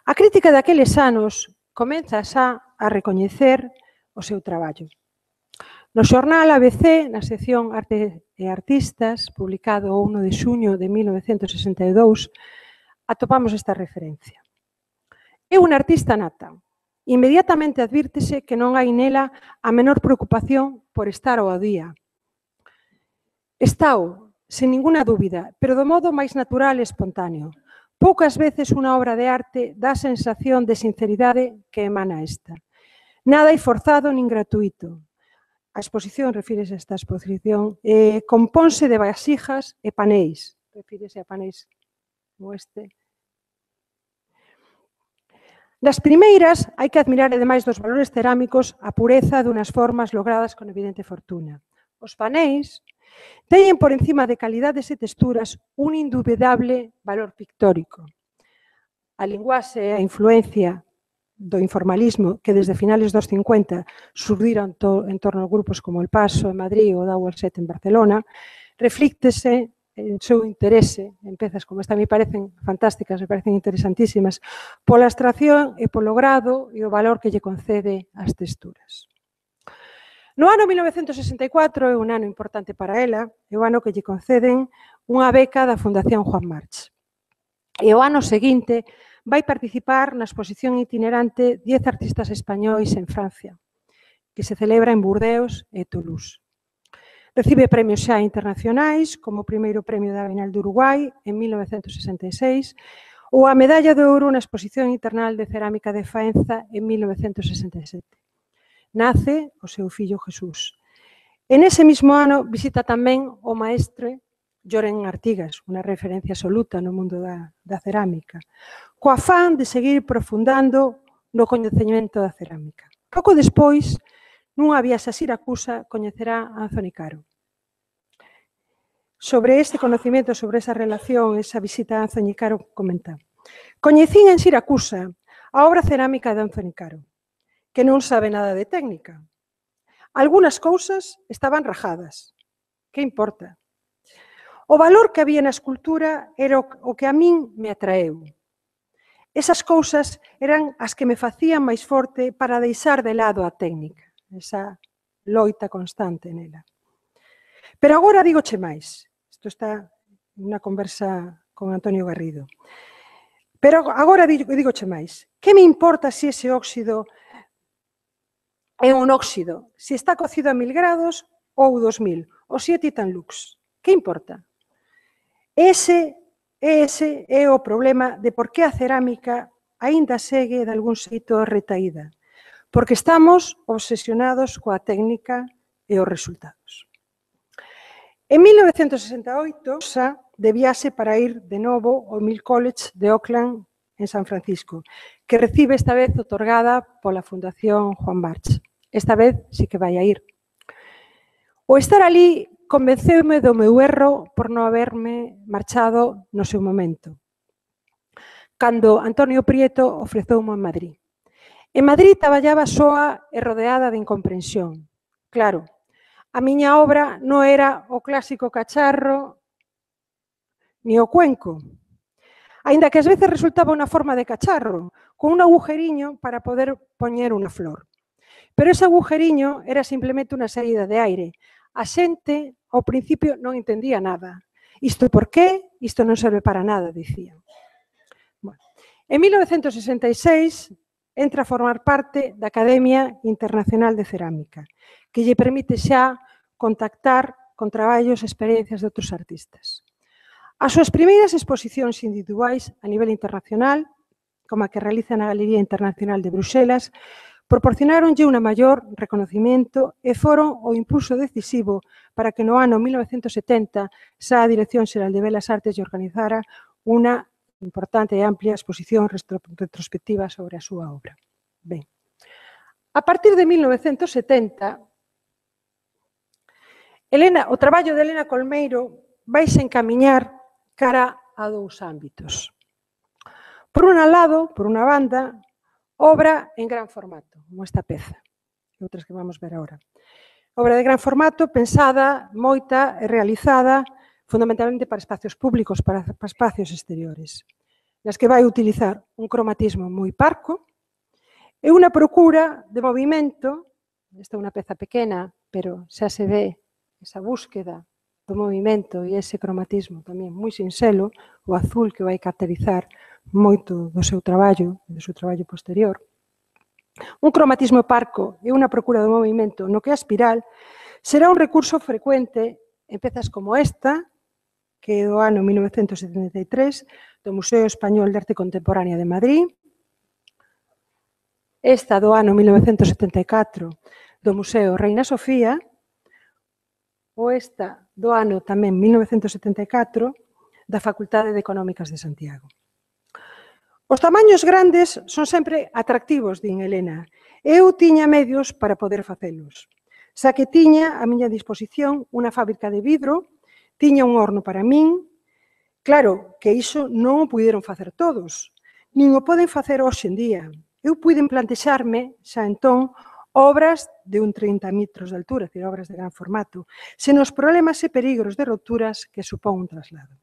A crítica daqueles anos comeza xa a recoñecer o seu traballo. No xornal A B C, na sección Arte e Artistas, publicado o primeiro de xuño de mil novecentos sesenta e dous, atopamos esta referencia. É unha artista nata. Inmediatamente advírtese que non hai nela a menor preocupación por estar ao día. Estáo, sen ninguna dúbida, pero do modo máis natural e espontáneo, Poucas veces unha obra de arte dá a sensación de sinceridade que emana esta. Nada é forzado nin gratuito. A exposición, refírese a esta exposición, eh, compónse de vasijas e panéis. Refírese a panéis como este. Das primeiras, hai que admirar, ademais dos valores cerámicos, a pureza dunhas formas logradas con evidente fortuna. Os panéis teñen por encima de calidades e texturas un indubidable valor pictórico. A linguaxe e a influencia do informalismo que desde finales dos cincuenta surdiron en torno a grupos como El Paso en Madrid ou Dauer Set en Barcelona, reflíctese en seu interese en pezas como esta, me parecen fantásticas, me parecen interesantísimas, pola abstracción e polo grado e o valor que lle concede ás texturas. No ano mil novecentos sesenta e catro, é un ano importante para ela, é o ano que lle conceden unha beca da Fundación Juan March. E o ano seguinte vai participar na exposición itinerante diez artistas españois en Francia, que se celebra en Burdeos e Toulouse. Recibe premios xa internacionais, como o primeiro premio da Bienal de Uruguai en mil novecentos sesenta e seis, ou a medalla de ouro na exposición internacional de cerámica de Faenza en mil novecentos sesenta e sete. Nace o seu fillo Jesús. En ese mismo ano visita tamén o maestre Lloren Artigas, unha referencia absoluta no mundo da, da cerámica, co afán de seguir profundando no coñecemento da cerámica. Pouco despois, nunha viaxe a Siracusa, coñecerá a Anthony Caro. Sobre este conocimiento, sobre esa relación, esa visita a Anthony Caro, comenta: coñecín en Siracusa a obra cerámica de Anthony Caro, que non sabe nada de técnica. Algunas cousas estaban rajadas. Que importa? O valor que había na escultura era o que a min me atraeu. Esas cousas eran as que me facían máis forte para deixar de lado a técnica, esa loita constante nela. Pero agora digoche máis. Isto está nunha conversa con Antonio Garrido. Pero agora digoche máis. Que me importa se ese óxido é un óxido, se está cocido a mil grados ou dos mil, ou se é Titan Lux? Que importa? Ese, ese é o problema de por que a cerámica aínda segue de algún xeito retaída, porque estamos obsesionados coa técnica e os resultados. En mil novecentos sesenta e oito, xa de viaxe para ir de novo ao Mill College de Oakland en San Francisco, que recibe esta vez otorgada pola Fundación Juan March. Esta vez sí que vai a ir. O estar ali convenceume do meu erro por non haberme marchado no seu momento, cando Antonio Prieto ofreceume en Madrid. En Madrid traballaba soa e rodeada de incomprensión. Claro, a miña obra non era o clásico cacharro ni o cuenco, aínda que ás veces resultaba unha forma de cacharro, con un agujeriño para poder poñer unha flor. Pero ese agujeriño era simplemente unha saída de aire. A xente, ao principio, non entendía nada. Isto por qué? Isto non serve para nada, dicían. Bueno, en mil novecentos sesenta e seis entra a formar parte da Academia Internacional de Cerámica, que lle permite xa contactar con traballos e experiencias de outros artistas. As súas primeiras exposicións individuais a nivel internacional, como a que realiza na Galería Internacional de Bruxelas, proporcionaronlle unha maior reconocimiento e foron o impulso decisivo para que no ano mil novecentos setenta xa a Dirección Xeral de Belas Artes lle organizara unha importante e amplia exposición retrospectiva sobre a súa obra. Ben, a partir de mil novecentos setenta, Elena, o traballo de Elena Colmeiro vai se encamiñar cara a dous ámbitos. Por un lado, por unha banda, obra en gran formato, como esta peza, e outras que vamos ver agora. Obra de gran formato, pensada, moita e realizada fundamentalmente para espacios públicos, para espacios exteriores, nas que vai utilizar un cromatismo moi parco e unha procura de movimento. Esta é unha peza pequena, pero xa se ve esa búsqueda do movimento e ese cromatismo tamén moi sinxelo, o azul que vai caracterizar moito do seu traballo, do seu traballo posterior. Un cromatismo parco e unha procura do movimento no que a espiral será un recurso frecuente en pezas como esta, que é do ano mil novecentos setenta e tres, do Museo Español de Arte Contemporánea de Madrid, esta do ano mil novecentos setenta e catro do Museo Reina Sofía, ou esta do ano tamén mil novecentos setenta e catro da Facultade de Económicas de Santiago. Os tamaños grandes son sempre atractivos, din Helena. Eu tiña medios para poder facelos. Xa que tiña a miña disposición unha fábrica de vidro, tiña un horno para min. Claro que iso non o puderon facer todos, nin o poden facer hoxe en día. Eu puiden plantexarme, xa entón, obras de un trinta metros de altura, é dicir, obras de gran formato, sen os problemas e perigros de roturas que supón un traslado.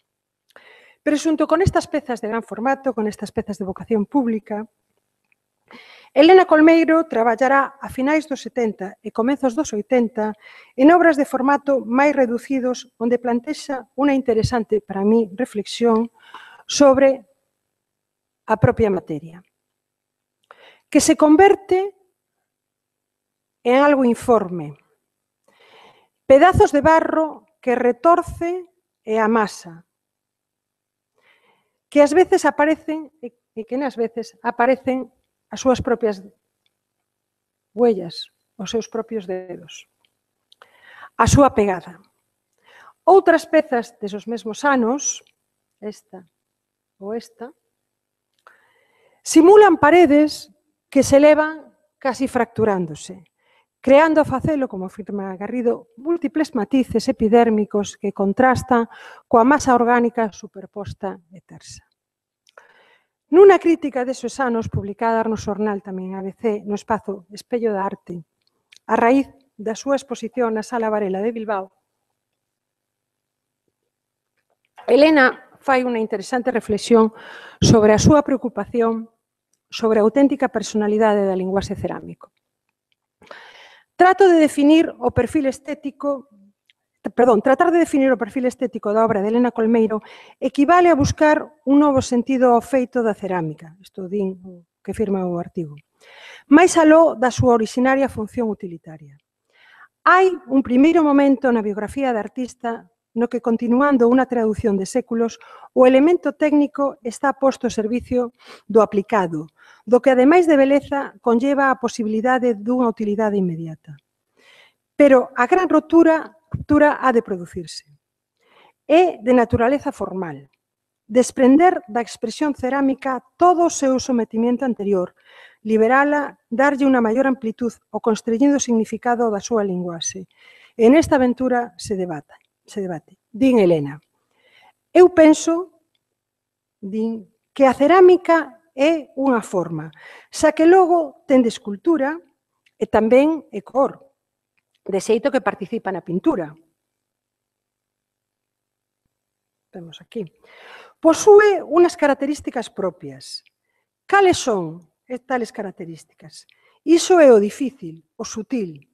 Pero xunto con estas pezas de gran formato, con estas pezas de vocación pública, Helena Colmeiro traballará a finais dos setenta e comezos dos oitenta en obras de formato máis reducidos onde plantexa unha interesante, para mí, reflexión sobre a propia materia, que se converte en algo informe, pedazos de barro que retorce e amasa, que ás veces aparecen e que nas veces aparecen as súas propias huellas, os seus propios dedos, a súa pegada. Outras pezas desos mesmos anos, esta ou esta, simulan paredes que se elevan casi fracturándose, creando a facelo, como afirma Garrido, múltiples matices epidérmicos que contrastan coa masa orgánica superposta e tersa. Nunha crítica desos anos, publicada no xornal tamén A B C, no espazo Espello da Arte, a raíz da súa exposición na Sala Varela de Bilbao, Helena fai unha interesante reflexión sobre a súa preocupación sobre a auténtica personalidade da linguaxe cerámico. Trato de definir o perfil estético, perdón, tratar de definir o perfil estético da obra de Helena Colmeiro equivale a buscar un novo sentido ao feito da cerámica, isto din que firma o artigo, máis aló da súa originaria función utilitaria. Hai un primeiro momento na biografía da artista no que, continuando unha traducción de séculos, o elemento técnico está posto ao servicio do aplicado, do que, ademais de beleza, conlleva a posibilidade dunha utilidade inmediata. Pero a gran ruptura, ruptura ha de producirse. É de naturaleza formal, desprender da expresión cerámica todo o seu sometimento anterior, liberala, darlle unha maior amplitud ao constreñido significado da súa linguaxe. En esta aventura se debate. se debate. Din Helena, eu penso, din, que a cerámica é unha forma, xa que logo ten de escultura e tamén é cor, de xeito que participa na pintura. Vemos aquí. Posúe unhas características propias. Cales son tales características? Iso é o difícil, o sutil.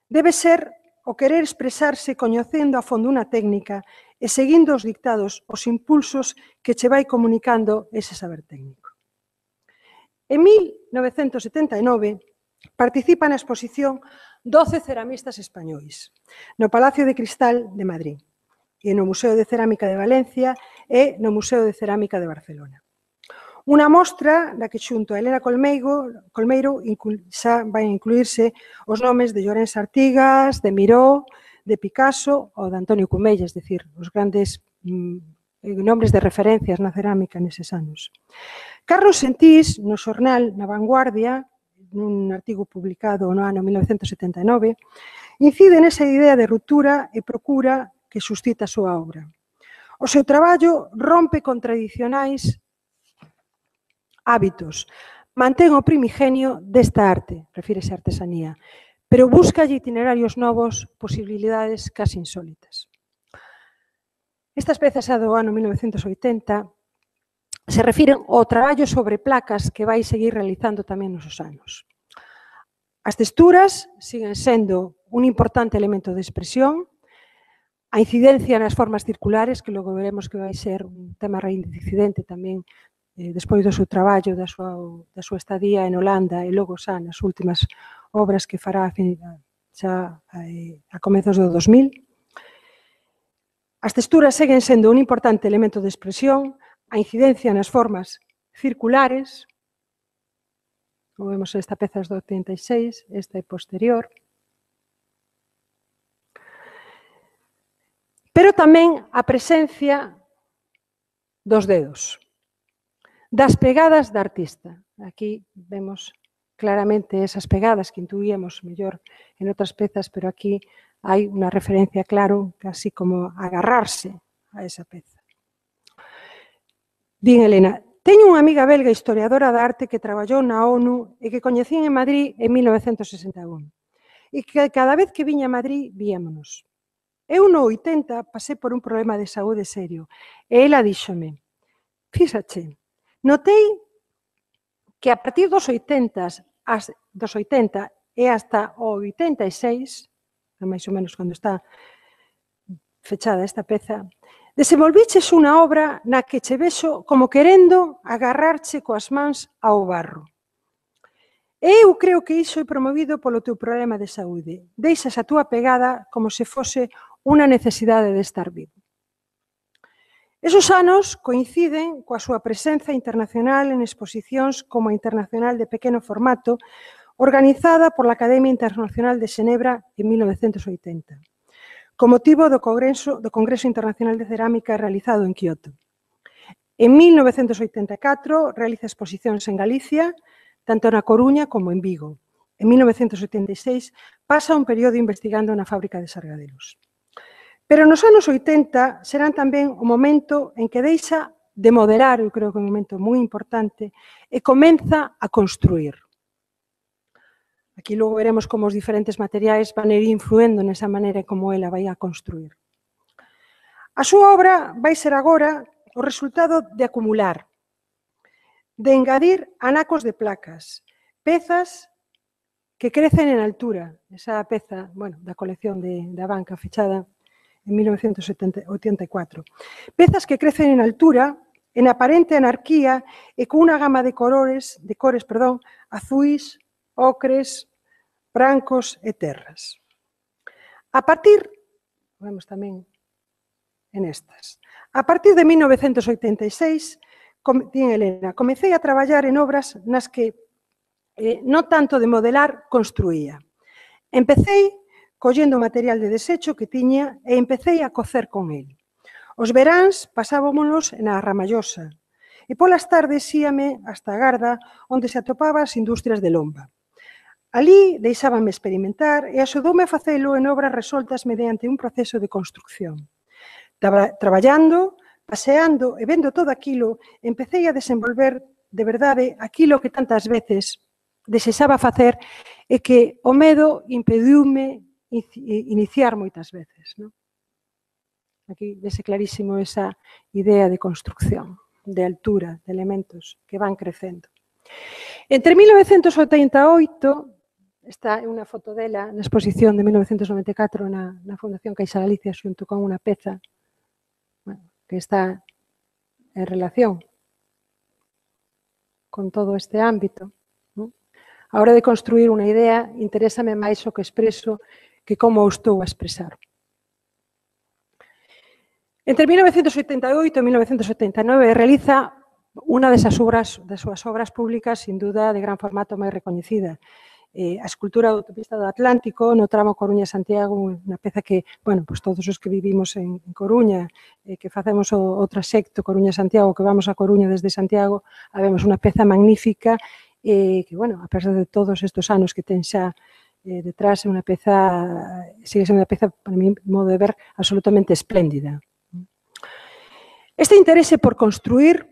Debe ser o querer expresarse coñecendo a fondo unha técnica e seguindo os dictados, os impulsos que che vai comunicando ese saber técnico. En mil novecentos setenta e nove participa na exposición doce ceramistas españois no Palacio de Cristal de Madrid e no Museo de Cerámica de Valencia e no Museo de Cerámica de Barcelona. Unha mostra na que xunto a Helena Colmeiro, Colmeiro xa vai incluirse os nomes de Llorens Artigas, de Miró, de Picasso ou de Antonio Cumella, es dicir, os grandes mm, nomes de referencias na cerámica neses anos. Carlos Sentís, no xornal Na Vanguardia, nun artigo publicado no ano mil novecentos setenta e nove, incide nesa idea de ruptura e procura que suscita a súa obra. O seu traballo rompe con tradicionais hábitos, mantén o primigenio desta arte, refírese a artesanía, pero busca itinerarios novos, posibilidades casi insólitas. Estas pezas do ano mil novecentos oitenta se refiren ao traballo sobre placas que vai seguir realizando tamén nos anos. As texturas siguen sendo un importante elemento de expresión, a incidencia nas formas circulares, que logo veremos que vai ser un tema reincidente tamén eh, despois do seu traballo, da súa, da súa estadía en Holanda e logo xa nas últimas obras que fará xa eh, a comezos do dos mil. As texturas seguen sendo un importante elemento de expresión, a incidencia nas formas circulares, como vemos esta peza do oitenta e seis, esta é posterior, pero tamén a presencia dos dedos, das pegadas da artista. Aquí vemos claramente esas pegadas que intuíamos mellor en outras pezas, pero aquí hai unha referencia, claro, casi como agarrarse a esa peza. Din Elena, teño unha amiga belga historiadora da arte que traballou na ONU e que coñecín en Madrid en mil novecentos sesenta e un e que cada vez que viña a Madrid víamonos. Eu no oitenta pasei por un problema de saúde serio e ela díxome, fíxache, notei que a partir dos oitenta, dos oitenta e hasta o oitenta e seis, máis ou menos cando está fechada esta peza, desenvolviches unha obra na que che vexo como querendo agarrarche coas mans ao barro. E eu creo que iso é promovido polo teu problema de saúde. Deixas a túa pegada como se fose unha necesidade de estar vivo. Esos anos coinciden coa súa presenza internacional en exposicións como a Internacional de Pequeno Formato, organizada pola Academia Internacional de Xenebra en mil novecentos oitenta, con motivo do Congreso, do Congreso Internacional de Cerámica realizado en Kioto. En mil novecentos oitenta e catro realiza exposicións en Galicia, tanto na Coruña como en Vigo. En mil novecentos oitenta e seis pasa un período investigando na fábrica de Sargadelos. Pero nos anos oitenta serán tamén o momento en que deixa de modelar, eu creo que é un momento moi importante, e comeza a construir. Aquí logo veremos como os diferentes materiais van ir influendo nesa maneira como ela vai a construir. A súa obra vai ser agora o resultado de acumular, de engadir anacos de placas, pezas que crecen en altura. Esa peza, bueno, da colección de, da banca fechada en mil novecentos oitenta e catro. Pezas que crecen en altura, en aparente anarquía e con unha gama de colores, de cores, perdón, azuis, ocres, brancos e terras. A partir, vemos tamén en estas, a partir de mil novecentos oitenta e seis, din Elena, comecei a traballar en obras nas que eh, non tanto de modelar, construía. Empecei collendo material de desecho que tiña e empecei a cocer con el. Os veráns pasábamonos na Ramallosa e polas tardes íame hasta a Garda onde se atopaba as industrias de Lomba. Alí deixábame experimentar e axudoume a facelo en obras resoltas mediante un proceso de construcción. Traballando, paseando e vendo todo aquilo, empecei a desenvolver de verdade aquilo que tantas veces desexaba facer e que o medo impediume iniciar moitas veces. Non? Aquí vese clarísimo esa idea de construcción, de altura, de elementos que van crecendo. Entre mil novecentos oitenta e oito, esta é unha foto dela na exposición de mil novecentos noventa e catro na, na Fundación Caixa Galicia xunto con unha peza bueno, que está en relación con todo este ámbito. Non? A hora de construir unha idea, interésame máis o que expreso que como o estou a expresar. Entre mil novecentos oitenta e oito e mil novecentos oitenta e nove realiza unha desas obras, das súas obras públicas, sin duda, de gran formato máis recoñecida. Eh, a escultura da autopista do Atlántico no tramo Coruña-Santiago, unha peza que, bueno, pues todos os que vivimos en, en Coruña, eh, que facemos o, o trasecto Coruña-Santiago, que vamos a Coruña desde Santiago, vemos unha peza magnífica, eh, que, bueno, a pesar de todos estes anos que ten xa eh, detrás, é unha peza, sigue sendo unha peza, para mí, modo de ver, absolutamente espléndida. Este interese por construir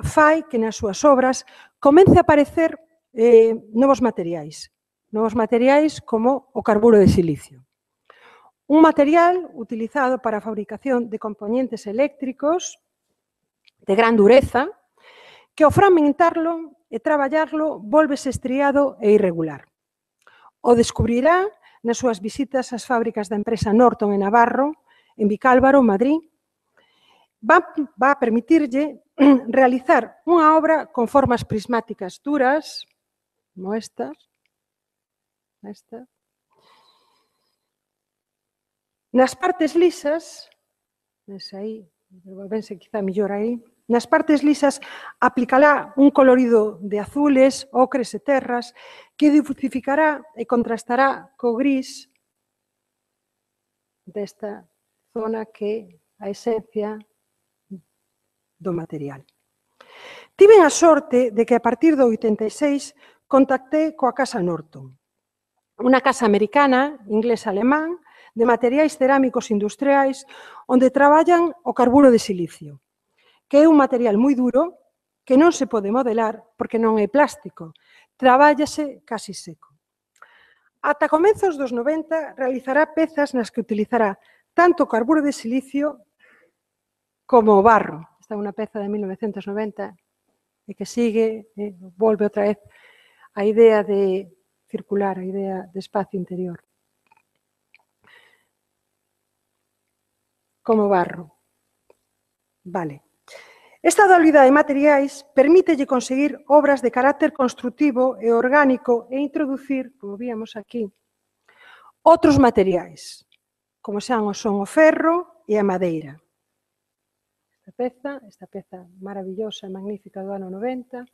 fai que nas súas obras comece a aparecer eh, novos materiais, novos materiais como o carburo de silicio. Un material utilizado para a fabricación de componentes eléctricos de gran dureza, que ao fragmentarlo e traballarlo volvese estriado e irregular. O descubrirá nas súas visitas ás fábricas da empresa Norton en Navarro, en Vicálvaro, Madrid. Va, va a permitirlle realizar unha obra con formas prismáticas duras, como estas, esta. Nas partes lisas, ves aí, vense quizá mellor aí, Nas partes lisas aplicará un colorido de azules, ocres e terras que diversificará e contrastará co gris desta zona que é a esencia do material. Tiven a sorte de que a partir do oitenta e seis contactei coa Casa Norton, unha casa americana, inglesa-alemán, de materiais cerámicos industriais onde traballan o carburo de silicio, que é un material moi duro que non se pode modelar porque non é plástico, trabállase casi seco. Ata comezos dos noventa realizará pezas nas que utilizará tanto o carburo de silicio como o barro. Esta é unha peza de mil novecentos noventa e que sigue, eh, volve outra vez a idea de circular, a idea de espacio interior. Como barro. Vale. Esta dualidade de materiais permítelle conseguir obras de carácter construtivo e orgánico e introducir, como víamos aquí, outros materiais, como xa son o ferro e a madeira. Esta peza, esta peza maravillosa e magnífica do ano noventa,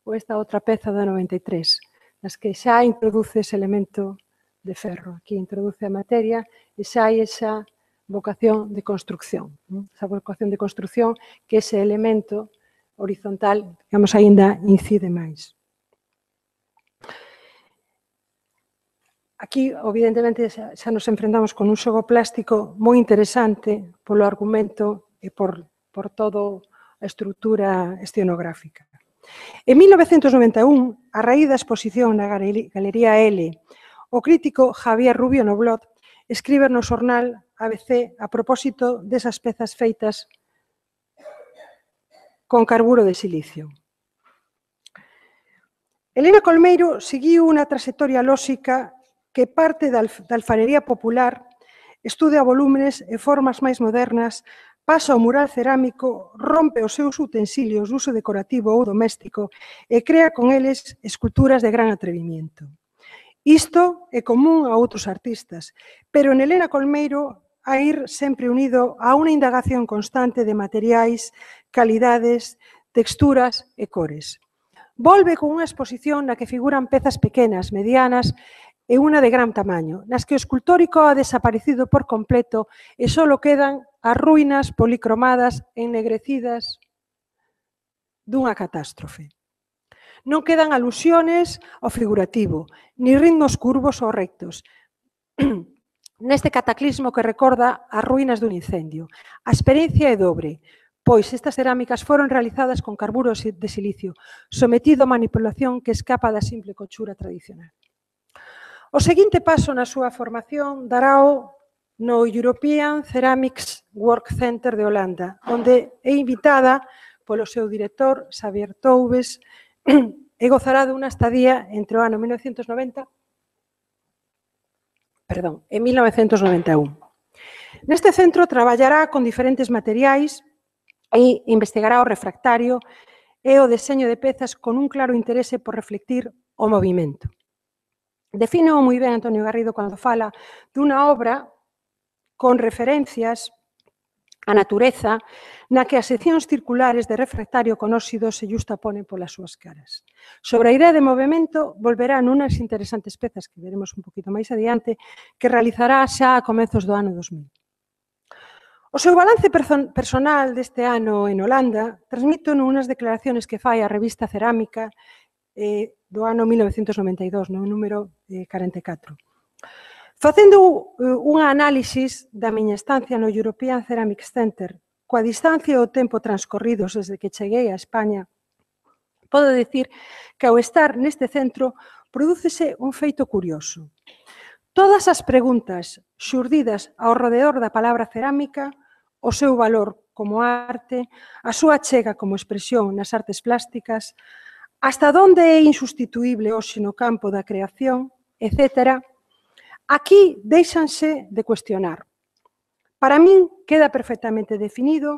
ou esta outra peza do ano noventa e tres, nas que xa introduce ese elemento de ferro. Aquí introduce a materia e xa hai esa vocación de construcción. Esa vocación de construcción que ese elemento horizontal, digamos, aínda incide máis. Aquí, evidentemente, xa, xa nos enfrentamos con un xogo plástico moi interesante polo argumento e por, por todo a estrutura escenográfica. En mil novecentos noventa e un, a raíz da exposición na Galería L, o crítico Javier Rubio Noblot escribe no xornal A B C a propósito desas pezas feitas con carburo de silicio. Elena Colmeiro seguiu unha trayectoria lóxica que parte da alfarería popular, estudia volúmenes e formas máis modernas, pasa ao mural cerámico, rompe os seus utensilios de uso decorativo ou doméstico e crea con eles esculturas de gran atrevimiento. Isto é común a outros artistas, pero en Elena Colmeiro a ir sempre unido a unha indagación constante de materiais, calidades, texturas e cores. Volve con unha exposición na que figuran pezas pequenas, medianas e unha de gran tamaño, nas que o escultórico ha desaparecido por completo e só quedan as ruínas policromadas e ennegrecidas dunha catástrofe. Non quedan alusiones ao figurativo, ni ritmos curvos ou rectos, neste cataclismo que recorda as ruínas dun incendio. A experiencia é dobre, pois estas cerámicas foron realizadas con carburo de silicio, sometido a manipulación que escapa da simple cochura tradicional. O seguinte paso na súa formación darao no European Ceramics Work Center de Holanda, onde é invitada polo seu director, Xavier Toubes, e gozará dunha estadía entre o ano mil novecentos noventa perdón, en mil novecentos noventa e un. Neste centro traballará con diferentes materiais e investigará o refractario e o deseño de pezas con un claro interese por reflectir o movimento. Define moi ben Antonio Garrido cando fala dunha obra con referencias á natureza na que as seccións circulares de refractario con óxido se justaponen polas súas caras. Sobre a idea de movimento, volverá nunas interesantes pezas que veremos un poquito máis adiante, que realizará xa a comezos do ano dos mil. O seu balance personal deste ano en Holanda transmite nunas declaraciones que fai a revista Cerámica do ano mil novecentos noventa e dous, no número corenta e catro. Facendo unha análisis da miña estancia no European Ceramics Center, coa distancia e o tempo transcorridos desde que cheguei a España, podo dicir que ao estar neste centro prodúcese un feito curioso. Todas as preguntas xurdidas ao redor da palabra cerámica, o seu valor como arte, a súa achega como expresión nas artes plásticas, hasta onde é insustituíble hoxe no campo da creación, etcétera, aquí deixanse de cuestionar. Para min queda perfectamente definido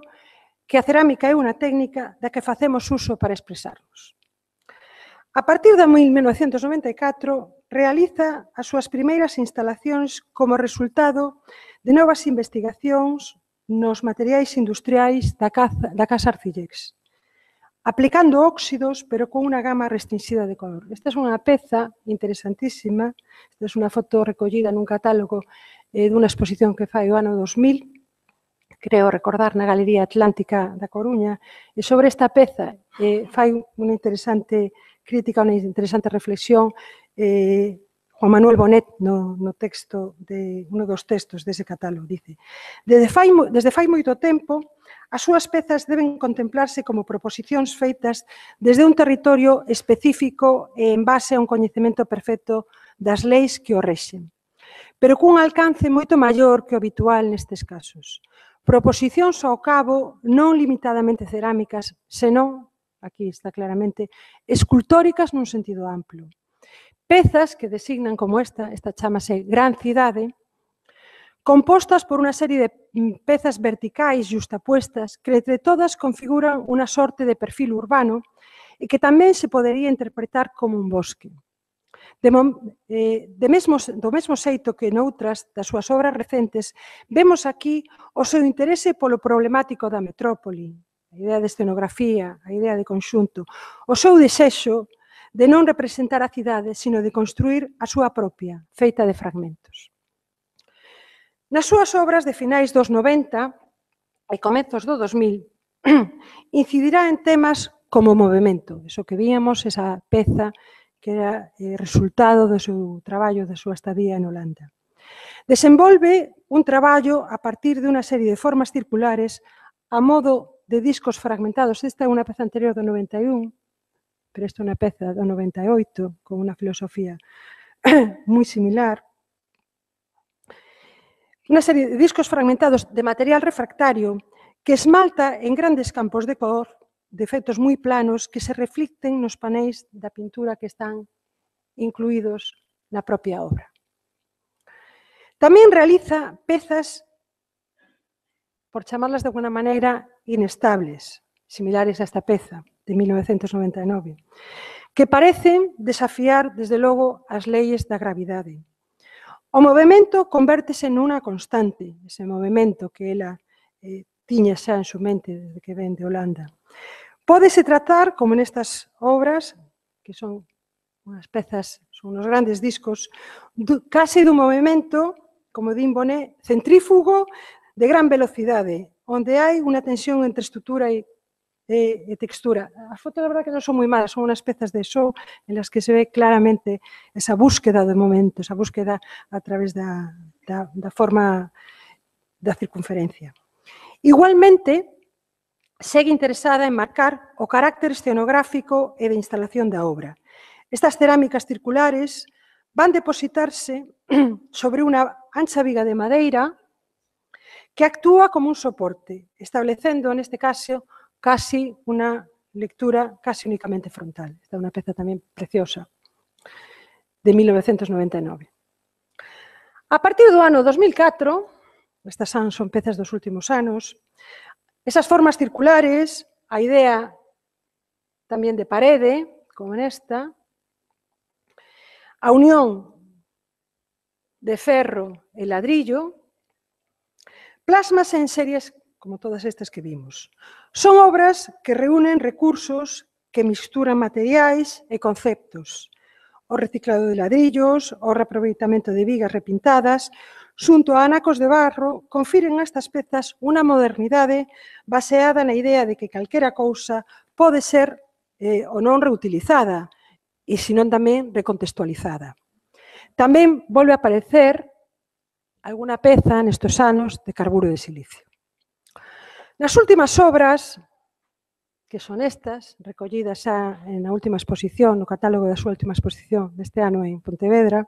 que a cerámica é unha técnica da que facemos uso para expresarnos. A partir de mil novecentos noventa e catro, realiza as súas primeiras instalacións como resultado de novas investigacións nos materiais industriais da Casa Arcillex. aplicando óxidos, pero con unha gama restringida de color. Esta é unha peza interesantísima, esta é unha foto recollida nun catálogo eh, dunha exposición que fai o ano dos mil, creo recordar na Galería Atlántica da Coruña, e sobre esta peza eh, fai unha interesante crítica, unha interesante reflexión eh, Juan Manuel Bonet no, no texto de uno dos textos dese catálogo, dice: desde fai, desde fai moito tempo, as súas pezas deben contemplarse como proposicións feitas desde un territorio específico e en base a un coñecemento perfecto das leis que o rexen, pero cun alcance moito maior que o habitual nestes casos. Proposicións ao cabo non limitadamente cerámicas, senón, aquí está claramente, escultóricas nun sentido amplo. Pezas que designan como esta, esta chamase Gran Cidade, compostas por unha serie de pezas verticais xustapuestas que entre todas configuran unha sorte de perfil urbano e que tamén se podería interpretar como un bosque. De, eh, de mesmo, do mesmo xeito que noutras das súas obras recentes, vemos aquí o seu interese polo problemático da metrópoli, a idea de escenografía, a idea de conxunto, o seu desexo de non representar a cidade, sino de construir a súa propia, feita de fragmentos. Nas súas obras de finais dos noventa e comezos do dos mil, incidirá en temas como o movimento, eso que víamos, esa peza que era eh, resultado do seu traballo, da súa estadía en Holanda. Desenvolve un traballo a partir de unha serie de formas circulares a modo de discos fragmentados. Esta é unha peza anterior do noventa e un, pero esta é unha peza do noventa e oito, con unha filosofía moi similar. Unha serie de discos fragmentados de material refractario que esmalta en grandes campos de cor, de efectos moi planos que se reflicten nos panéis da pintura que están incluídos na propia obra. Tamén realiza pezas, por chamarlas de alguna maneira, inestables, similares a esta peza de mil novecentos noventa e nove, que parecen desafiar, desde logo, as leyes da gravidade. O movimento convértese nunha constante, ese movimento que ela eh, tiña xa en su mente desde que ven de Holanda. Pódese tratar, como nestas obras, que son unhas pezas, son unos grandes discos, do, case dun movimento, como din Bonet, centrífugo de gran velocidade, onde hai unha tensión entre estrutura e E, e textura. As fotos, a verdade, que non son moi malas, son unhas pezas de show en las que se ve claramente esa búsqueda do momento, esa búsqueda a través da, da, da forma da circunferencia. Igualmente, segue interesada en marcar o carácter escenográfico e de instalación da obra. Estas cerámicas circulares van depositarse sobre unha ancha viga de madeira que actúa como un soporte, establecendo, neste caso, casi unha lectura casi únicamente frontal. Esta é unha peza tamén preciosa, de mil novecentos noventa e nove. A partir do ano dos mil catro, estas son, son pezas dos últimos anos, esas formas circulares, a idea tamén de parede, como nesta, a unión de ferro e ladrillo, plasmas en series como todas estas que vimos. Son obras que reúnen recursos que misturan materiais e conceptos. O reciclado de ladrillos, o reaproveitamento de vigas repintadas, xunto a anacos de barro, confiren a estas pezas unha modernidade baseada na idea de que calquera cousa pode ser eh, ou non reutilizada, e senón tamén recontextualizada. Tamén volve a aparecer alguna peza nestes anos de carburo de silicio. Nas últimas obras, que son estas, recollidas xa na última exposición, no catálogo da súa última exposición deste ano en Pontevedra,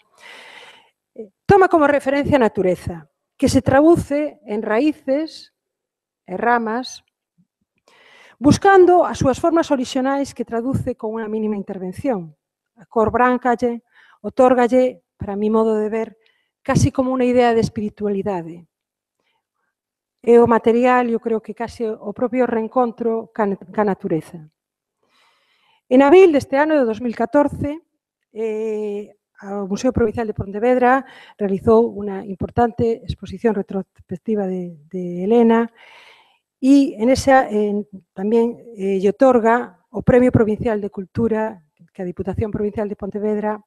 toma como referencia a natureza, que se traduce en raíces e ramas, buscando as súas formas orixinais que traduce con unha mínima intervención. A cor branca lle otórgalle, para mi modo de ver, casi como unha idea de espiritualidade. E o material, eu creo que case o propio reencontro ca natureza. En abril deste ano de dos mil catorce, eh, o Museo Provincial de Pontevedra realizou unha importante exposición retrospectiva de, de Helena e en esa eh, tamén eh, lle otorga o Premio Provincial de Cultura que a Diputación Provincial de Pontevedra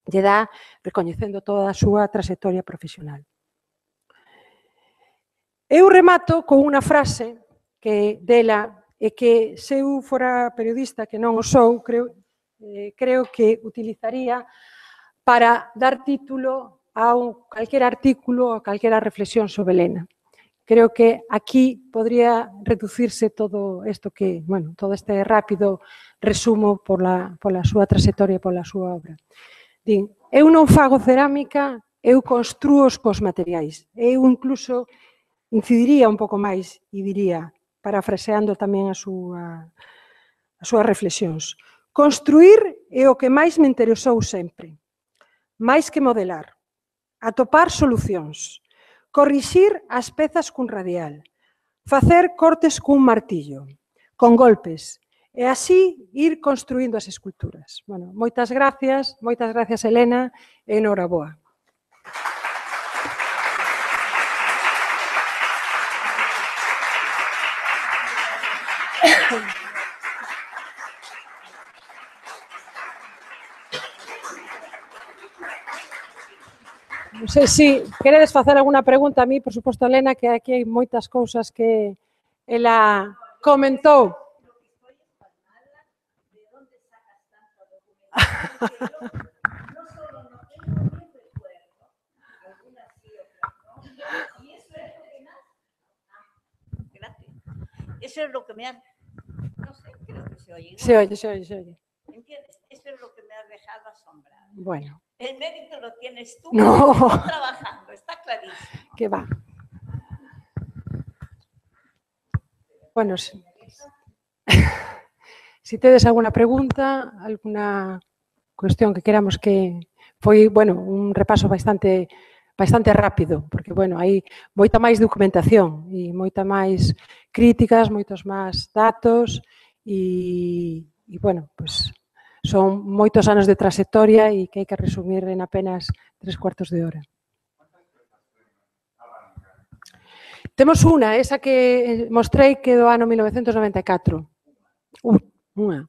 lle dá recoñecendo toda a súa trayectoria profesional. Eu remato con unha frase que dela e que se eu fora periodista, que non o sou, creo, eh, creo que utilizaría para dar título a un, calquera artículo ou calquera reflexión sobre Elena. Creo que aquí podría reducirse todo isto que, bueno, todo este rápido resumo pola, pola súa trayectoria e pola súa obra. Din, eu non fago cerámica, eu construo os cos materiais. Eu incluso incidiría un pouco máis e diría, parafraseando tamén a súa, as súas reflexións, construir é o que máis me interesou sempre, máis que modelar, atopar solucións, corrixir as pezas cun radial, facer cortes cun martillo, con golpes, e así ir construindo as esculturas. Bueno, moitas gracias, moitas gracias, Elena, e enhoraboa. Non sei se queredes facer alguna pregunta a mí, por suposto, Elena, que aquí hai moitas cousas que ela comentou. Eso es lo que me ha... No sé, creo que se oye. Se oye, se oye, se oye. ¿Entiendes? Eso es lo que me ha dejado asombrada. Bueno. El mérito lo tienes tú. No. Estás trabajando, está clarísimo. Que va. Bueno, si, si tedes alguna pregunta, alguna cuestión que queramos que... Foi, bueno, un repaso bastante bastante rápido, porque, bueno, hai moita máis documentación e moita máis críticas, moitos máis datos e, e bueno, pues, son moitos anos de trayectoria e que hai que resumir en apenas tres cuartos de hora. Temos unha, esa que mostrei que do ano mil novecentos noventa e catro. Unha.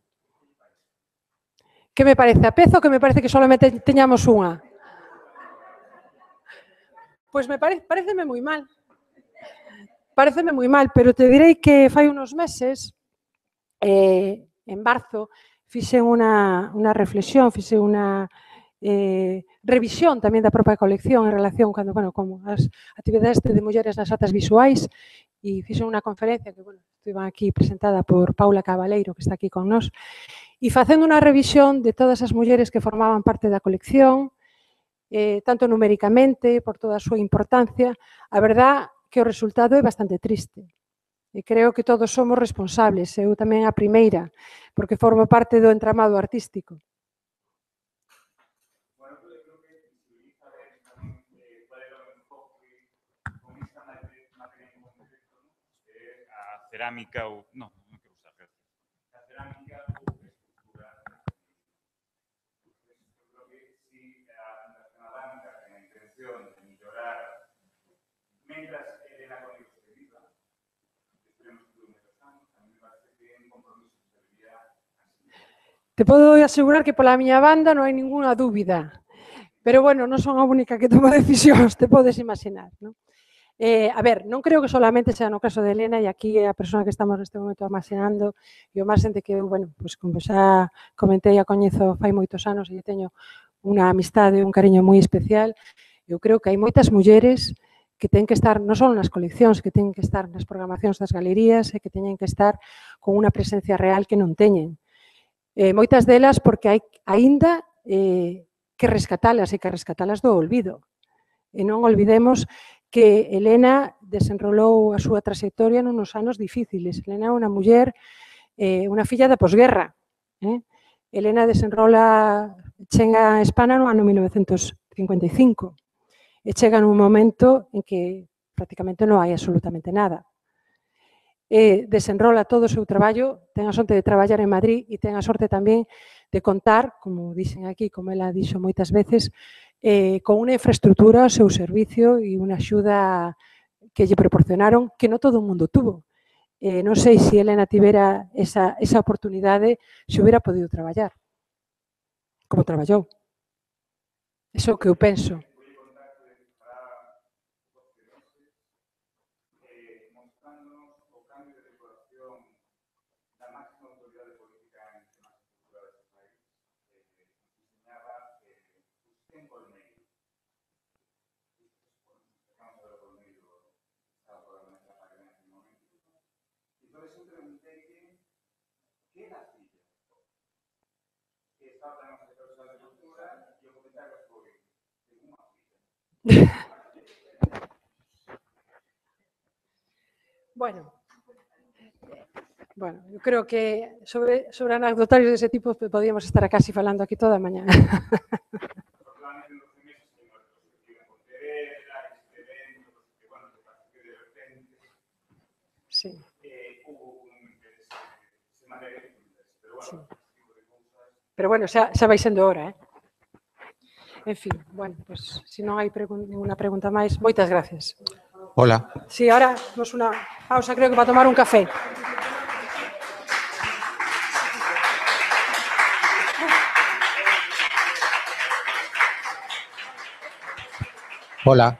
Que me parece a peza ou que me parece que solamente teñamos unha? Pois me parece, pareceme moi mal. Pareceme moi mal, pero te direi que fai unos meses, eh, en marzo, fixen unha, unha reflexión, fixen unha eh, revisión tamén da propia colección en relación cando, bueno, como as actividades de mulleres nas artes visuais e fixen unha conferencia que, bueno, estuve aquí presentada por Paula Cabaleiro, que está aquí con nós, e facendo unha revisión de todas as mulleres que formaban parte da colección, eh, tanto numéricamente, por toda a súa importancia, a verdad que o resultado é bastante triste. E creo que todos somos responsables, eu tamén a primeira, porque formo parte do entramado artístico. Bueno, yo creo que visibiliza tamén cuál era o enfoque con esta materia en concreto, a cerámica ou... Non, non quero usar, gracias. A cerámica ou escultura. Eu creo que si a cerámica ten a intención de mellorar mentras Elena Cónigo se viva, esperemos que dure menos anos, a mí me parece que é un compromiso que se debería así. Te podo asegurar que pola miña banda non hai ninguna dúbida. Pero, bueno, non son a única que toma decisións, te podes imaginar, non? Eh, a ver, non creo que solamente sea no caso de Elena e aquí é a persona que estamos neste momento almacenando e o máis xente que, bueno, pues, como xa comentei, a coñezo fai moitos anos e teño unha amistade e un cariño moi especial. Eu creo que hai moitas mulleres que ten que estar non só nas coleccións, que ten que estar nas programacións das galerías e que teñen que estar con unha presencia real que non teñen. Eh, moitas delas porque hai aínda eh, que rescatalas e que rescatalas do olvido. E non olvidemos que Elena desenrolou a súa trayectoria nunos anos difíciles. Elena é unha muller, eh, unha filla da posguerra. Eh? Elena desenrola, chega a España no ano mil novecentos cincuenta e cinco. E chega nun momento en que prácticamente non hai absolutamente nada. E desenrola todo o seu traballo, ten a sorte de traballar en Madrid e ten a sorte tamén de contar, como dixen aquí, como ela dixo moitas veces, eh, con unha infraestructura ao seu servicio e unha axuda que lle proporcionaron que non todo o mundo tuvo. eh, non sei se Elena tivera esa, esa oportunidade, se hubiera podido traballar, como traballou. Eso é o que eu penso. Bueno, bueno, eu creo que sobre, sobre anecdotarios dese tipo podíamos estar casi falando aquí toda a mañá. Sí. Sí. Pero bueno, xa, xa vai sendo hora, eh? En fin, bueno, pues se non hai pregun ninguna pregunta máis, moitas gracias. Hola. Sí, ahora vamos unha pausa, creo que para tomar un café. Hola.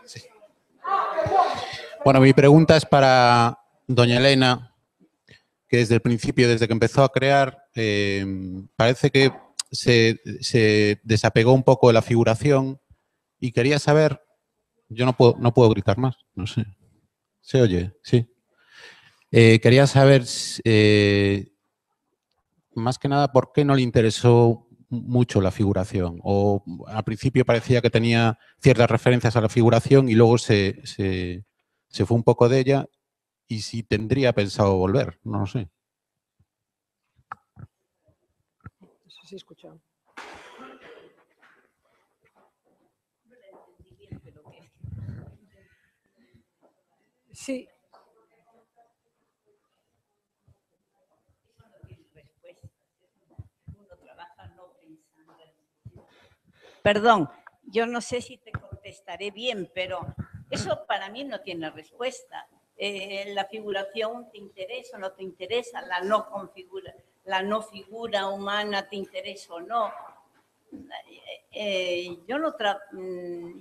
Sí. Bueno, mi pregunta es para doña Elena, que desde el principio, desde que empezó a crear, eh, parece que se, se desapegó un poco de la figuración y quería saber, yo no puedo, no puedo gritar más, no sé, ¿se oye? Sí. Eh, quería saber, eh, más que nada, por qué no le interesó mucho la figuración, o al principio parecía que tenía ciertas referencias a la figuración y luego se, se, se fue un poco de ella, y si tendría pensado volver, no lo sé. Eso sí escuchado. Sí. Perdón, yo no sé si te contestaré bien, pero eso para mí no tiene respuesta. Eh, la figuración te interesa o no te interesa, la no configura, la no figura humana te interesa o no. Eh, yo, no tra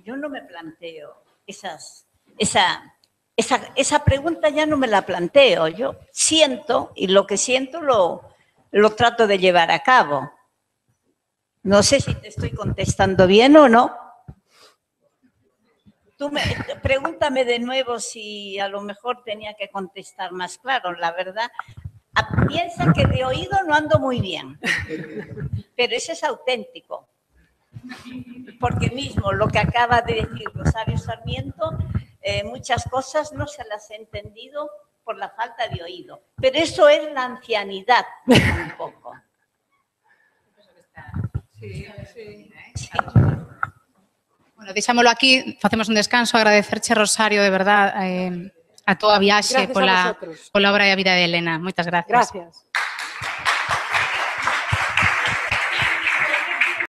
yo no me planteo esas, esa, esa, esa pregunta, ya no me la planteo. Yo siento, y lo que siento lo, lo trato de llevar a cabo. No sé si te estoy contestando bien o no. Tú me, pregúntame de nuevo si a lo mejor tenía que contestar más claro. La verdad, a, piensa que de oído no ando muy bien, pero ese es auténtico. Porque mismo lo que acaba de decir Rosario Sarmiento, eh, muchas cosas no se las he entendido por la falta de oído. Pero eso es la ancianidad, un poco. Sí, sí. Sí. Bueno, deixámolo aquí, facemos un descanso, agradecerche, Rosario, de verdad, eh, a túa viaxe Gracias a pola, vosotros. pola obra e a vida de Elena. Moitas gracias. Gracias.